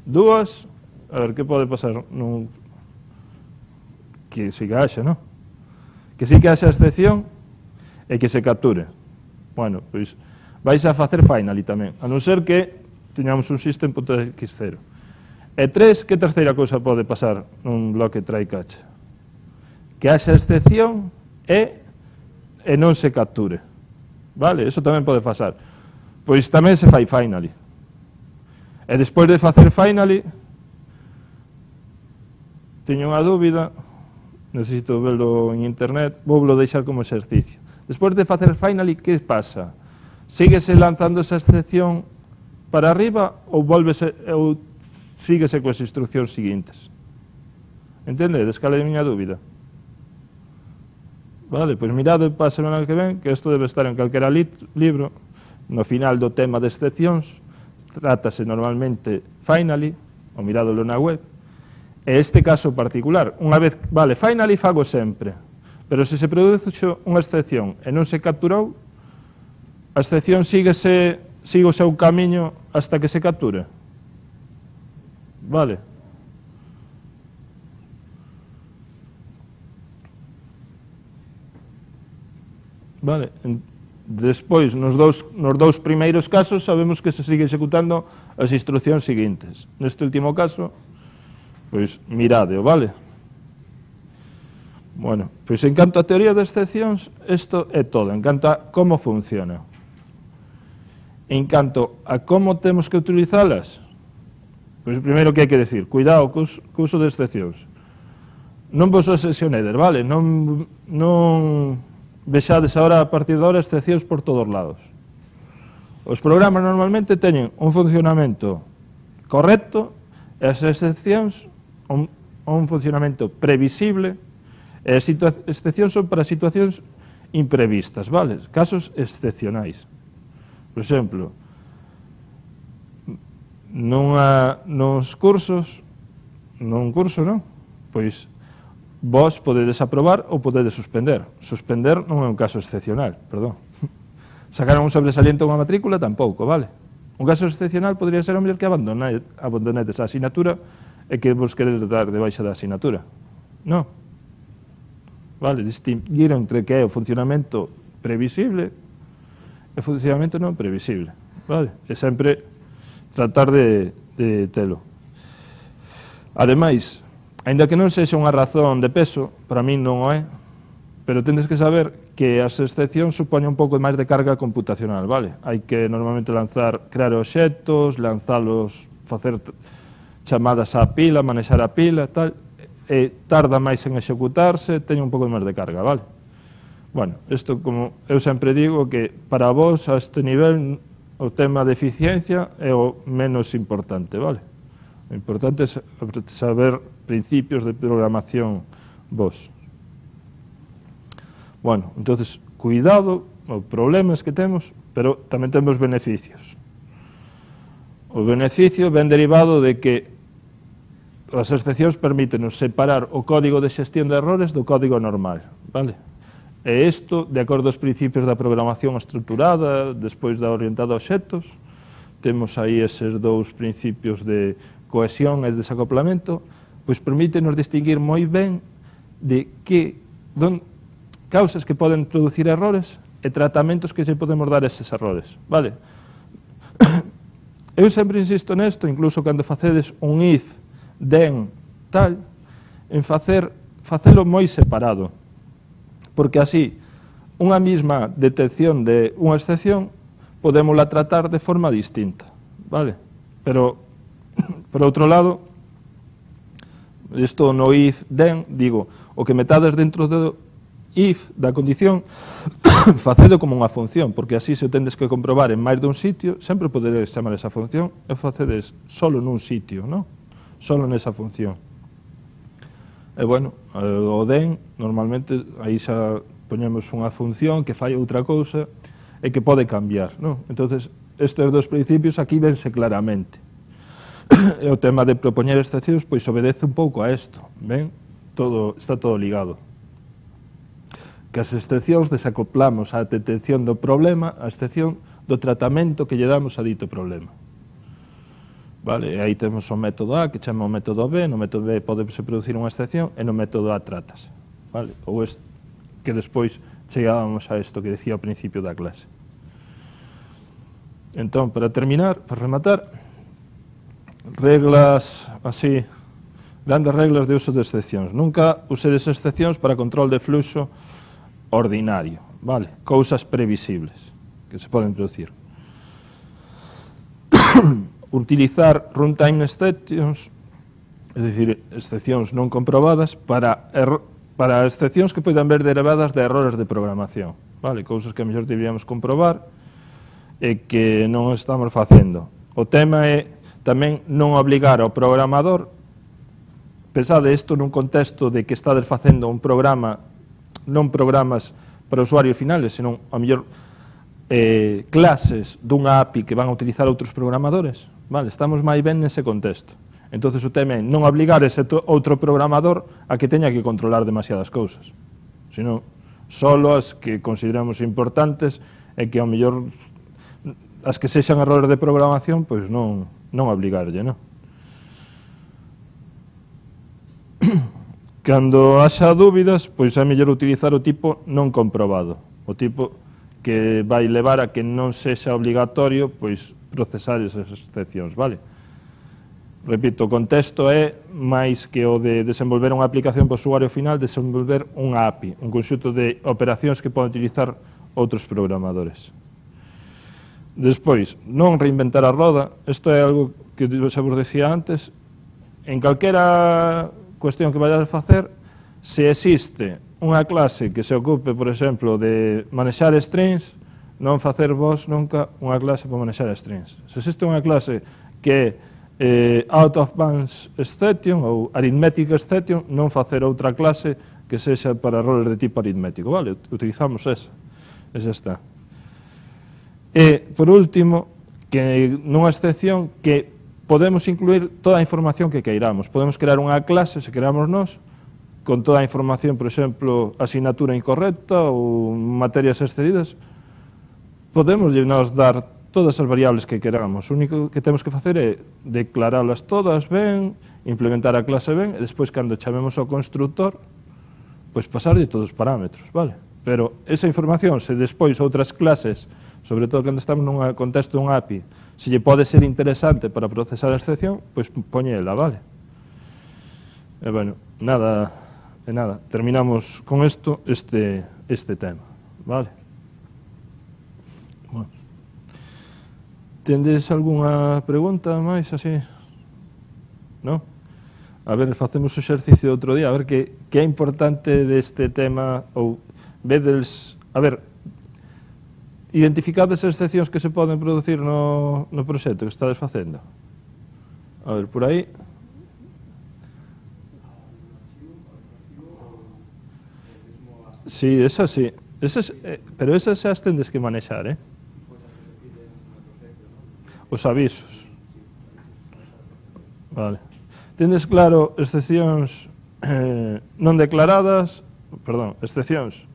Dúas, a ver, que pode pasar? Nun... Que si que haxa, non? Que si que haxa excepción e que se capture. Bueno, pois vais a facer finally tamén, a non ser que teñamos un system.x0. E tres, que terceira cousa pode pasar nun bloque try catch? Que haxa excepción e, e non se capture. Vale, eso tamén pode pasar. Pois tamén se fai finally. E despois de facer finally, teño unha dúbida, necesito verlo en internet, vou lo deixar como exercicio. Despois de facer finally, que pasa? Síguese lanzando esa excepción para arriba ou volvese ou síguese coas instruccións seguintes? Entendedes? Cal é a miña dúbida? Vale, pois mirade para a semana que ven, que isto debe estar en calquera libro, no final do tema de excepcións, trátase normalmente finally, ou miradolo na web. E este caso particular, unha vez, vale, finally fago sempre, pero se se produce unha excepción e non se capturou, a excepción síguese, sigue o seu camiño hasta que se capture. Vale. Vale. Despois, nos dous, nos dous primeiros casos, sabemos que se sigue executando as instruccións seguintes. Neste último caso, pois miradeo, vale? Bueno, pois en canto a teoría de excepcións, isto é todo, en canto a como funciona. En canto a como temos que utilizalas, pois primeiro que hai que decir, cuidado co uso de excepcións. Non vos obsesionedes, vale? Non, non vexades agora, a partir de agora, excepcións por todos lados. Os programas normalmente teñen un funcionamento correcto e as excepcións un, un funcionamento previsible e as excepcións son para situacións imprevistas, vale? Casos excepcionais. Por exemplo, nunha, nos cursos, nun curso, non? Pois vos podedes aprobar ou podedes suspender. Suspender non é un caso excepcional, perdón. Sacaron un sobresaliente a unha matrícula, tampouco, vale? Un caso excepcional podría ser o mellor que abandonedes a asignatura e que vos queredes dar de baixa da asignatura. Non. Vale, distinguir entre que é o funcionamento previsible e o funcionamento non previsible. Vale? E sempre tratar de, de telo. Ademais, aínda que non sexa unha razón de peso, para min non o é, pero tendes que saber que as excepcións supoñen un pouco máis de carga computacional, vale? Hai que normalmente lanzar, crear obxectos, lanzalos, facer chamadas á pila, manexar a pila, tal, e tarda máis en executarse, teñe un pouco máis de carga, vale? Bueno, isto, como eu sempre digo, que para vos, a este nivel, o tema de eficiencia é o menos importante, vale? O importante é saber principios de programación vos. Bueno, entonces, cuidado, os problemas que temos, pero tamén temos beneficios. O beneficio ven derivado de que as excepcións permítenos separar o código de xestión de errores do código normal, vale? E isto, de acordo aos principios da programación estruturada, despois da orientada a obxectos, temos aí eses dous principios de cohesión e desacoplamento, pois permítenos distinguir moi ben de que don, causas que poden producir errores e tratamentos que se podemos dar a eses errores, vale? Eu sempre insisto nesto, incluso cando facedes un if, then, tal, en facer, facelo moi separado, porque así, unha mesma detección de unha excepción, podémosla tratar de forma distinta, vale? Pero, por outro lado, isto no if, then, digo, o que metades dentro do if, da condición, facedo como unha función, porque así se o tendes que comprobar en máis dun sitio, sempre poderes chamar esa función e facedes solo nun sitio, non? Solo nesa función. E, bueno, o then, normalmente, aí xa poñemos unha función que fai outra cousa e que pode cambiar, non? Entonces, estes dos principios aquí vense claramente. E o tema de propoñer excepcións, pois obedece un pouco a isto, ben? Todo, está todo ligado. Que as excepcións desacoplamos a detección do problema, a excepción do tratamento que lle damos a dito problema. Vale, e aí temos o método A, que chama o método B, no método B podese producir unha excepción, e no método A tratas. Vale, ou es que despois chegábamos a isto que decía ao principio da clase. Entón, para terminar, para rematar, reglas así, grandes reglas de uso de excepcións. Nunca usedes excepcións para control de fluxo ordinario, vale? Cousas previsibles que se poden producir. Utilizar runtime exceptions, é dicir, excepcións non comprobadas para, para excepcións que poden ver derivadas de errores de programación, vale? Cousas que a mellor deberíamos comprobar e que non estamos facendo. O tema é tamén non obligar ao programador, pensade isto nun contexto de que estades facendo un programa, non programas para usuarios finales, senón a mellor eh, clases dunha A P I que van a utilizar outros programadores, vale? Estamos máis ben nese contexto. Entonces o tema é non obligar ese outro programador a que teña que controlar demasiadas cousas, senón solo as que consideramos importantes e que ao mellor as que sexan errores de programación, pois non, non obligarlle, non? Cando haxa dúbidas, pois é mellor utilizar o tipo non comprobado, o tipo que vai levar a que non sexa obligatorio pois procesar esas excepcións, vale? Repito, o contexto é máis que o de desenvolver unha aplicación para o usuario final, desenvolver unha A P I, un conxunto de operacións que poden utilizar outros programadores. Despois, non reinventar a roda, isto é algo que xa vos decía antes, en calquera cuestión que vayades a facer, se existe unha clase que se ocupe, por exemplo, de manexar strings, non facer vos nunca unha clase para manexar strings. Se existe unha clase que é eh, out of bounds exception ou arithmetic exception, non facer outra clase que sexa para errores de tipo aritmético, vale? Utilizamos esa, esa está. E, por último, que nunha excepción que podemos incluir toda a información que queiramos. Podemos crear unha clase, se queramos nós, con toda a información, por exemplo, asignatura incorrecta ou materias excedidas. Podemos nos dar todas as variables que queramos. O único que temos que facer é declaralas todas ben, implementar a clase ben, e despois, cando chamemos ao constructor, pois pasarlle todos os parámetros, vale? Pero esa información, se despois outras clases, sobre todo cando estamos nun contexto dun A P I, se lle pode ser interesante para procesar a excepción, pois poñela, vale? E, bueno, nada, e nada, terminamos con isto este, este tema, vale? Bueno. Tendes algunha pregunta máis así? Non? A ver, facemos o exercicio outro día, a ver que, que é importante deste tema, ou vedes, a ver, identificades as excepcións que se poden producir no, no proxecto que estades facendo. A ver, por aí. Sí, esas sí. Esas, eh, pero esas xa as tendes que manexar, eh? Os avisos. Vale. Tendes claro excepcións eh, non declaradas, perdón, excepcións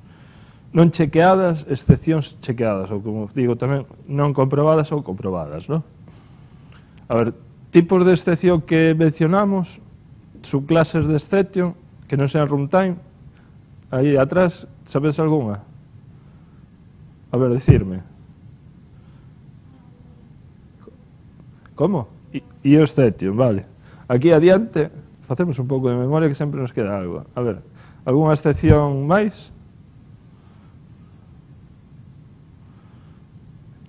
non chequeadas, excepcións chequeadas, ou como digo tamén, non comprobadas ou comprobadas, non? A ver, tipos de excepción que mencionamos, subclases de exception, que non sean runtime, aí atrás, sabes algunha? A ver, dicirme. Como? E o exception, vale. Aquí adiante, facemos un pouco de memoria que sempre nos queda algo. A ver, algunha excepción máis?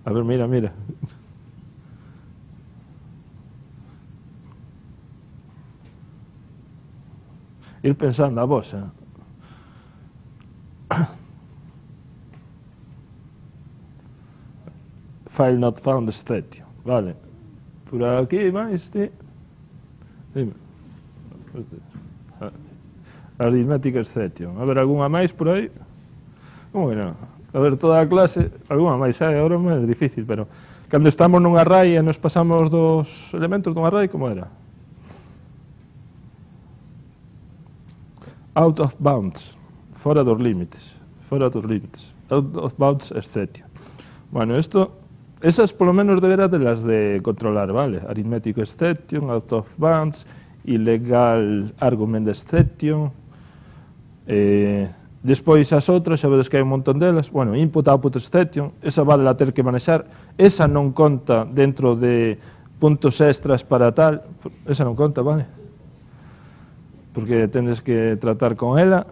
A ver, mira, mira. Ir pensando a vosa. File not found exception. Vale. Por aquí máis, ti. Dime. Arithmetic exception. A ver, algunha máis por aí? Como que non? A ver, toda a clase, algunha máis, eh? Agora é difícil, pero cando estamos nun array e nos pasamos dos elementos dun array, como era? Out of bounds, fora dos límites, fora dos límites, out of bounds exception. Bueno, isto, esas polo menos deberás de las de controlar, vale? Arithmetic exception, out of bounds, illegal argument exception, eh... Despois as outras, xa vedes que hai un montón delas, bueno, input, output exception, esa vale a ter que manexar, esa non conta dentro de puntos extras para tal, esa non conta, vale? Porque tendes que tratar con ela,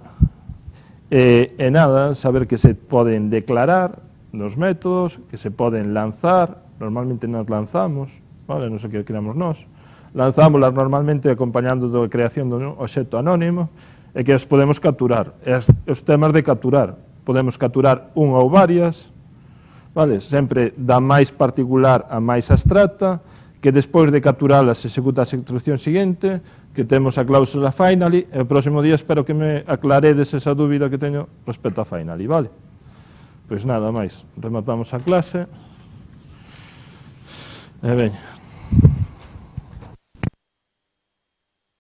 e, e nada, saber que se poden declarar nos métodos, que se poden lanzar, normalmente nas lanzamos, vale, non sei que creamos nós, lanzámoslas normalmente acompañando da creación do obxecto anónimo, e que as podemos capturar. As, os temas de capturar, podemos capturar unha ou varias, vale? Sempre da máis particular a máis abstracta, que despois de capturalas se executa a instrucción seguinte, que temos a cláusula finally, e o próximo día espero que me aclaredes esa dúbida que teño respecto a finally, vale? Pois nada máis, rematamos a clase. E ben,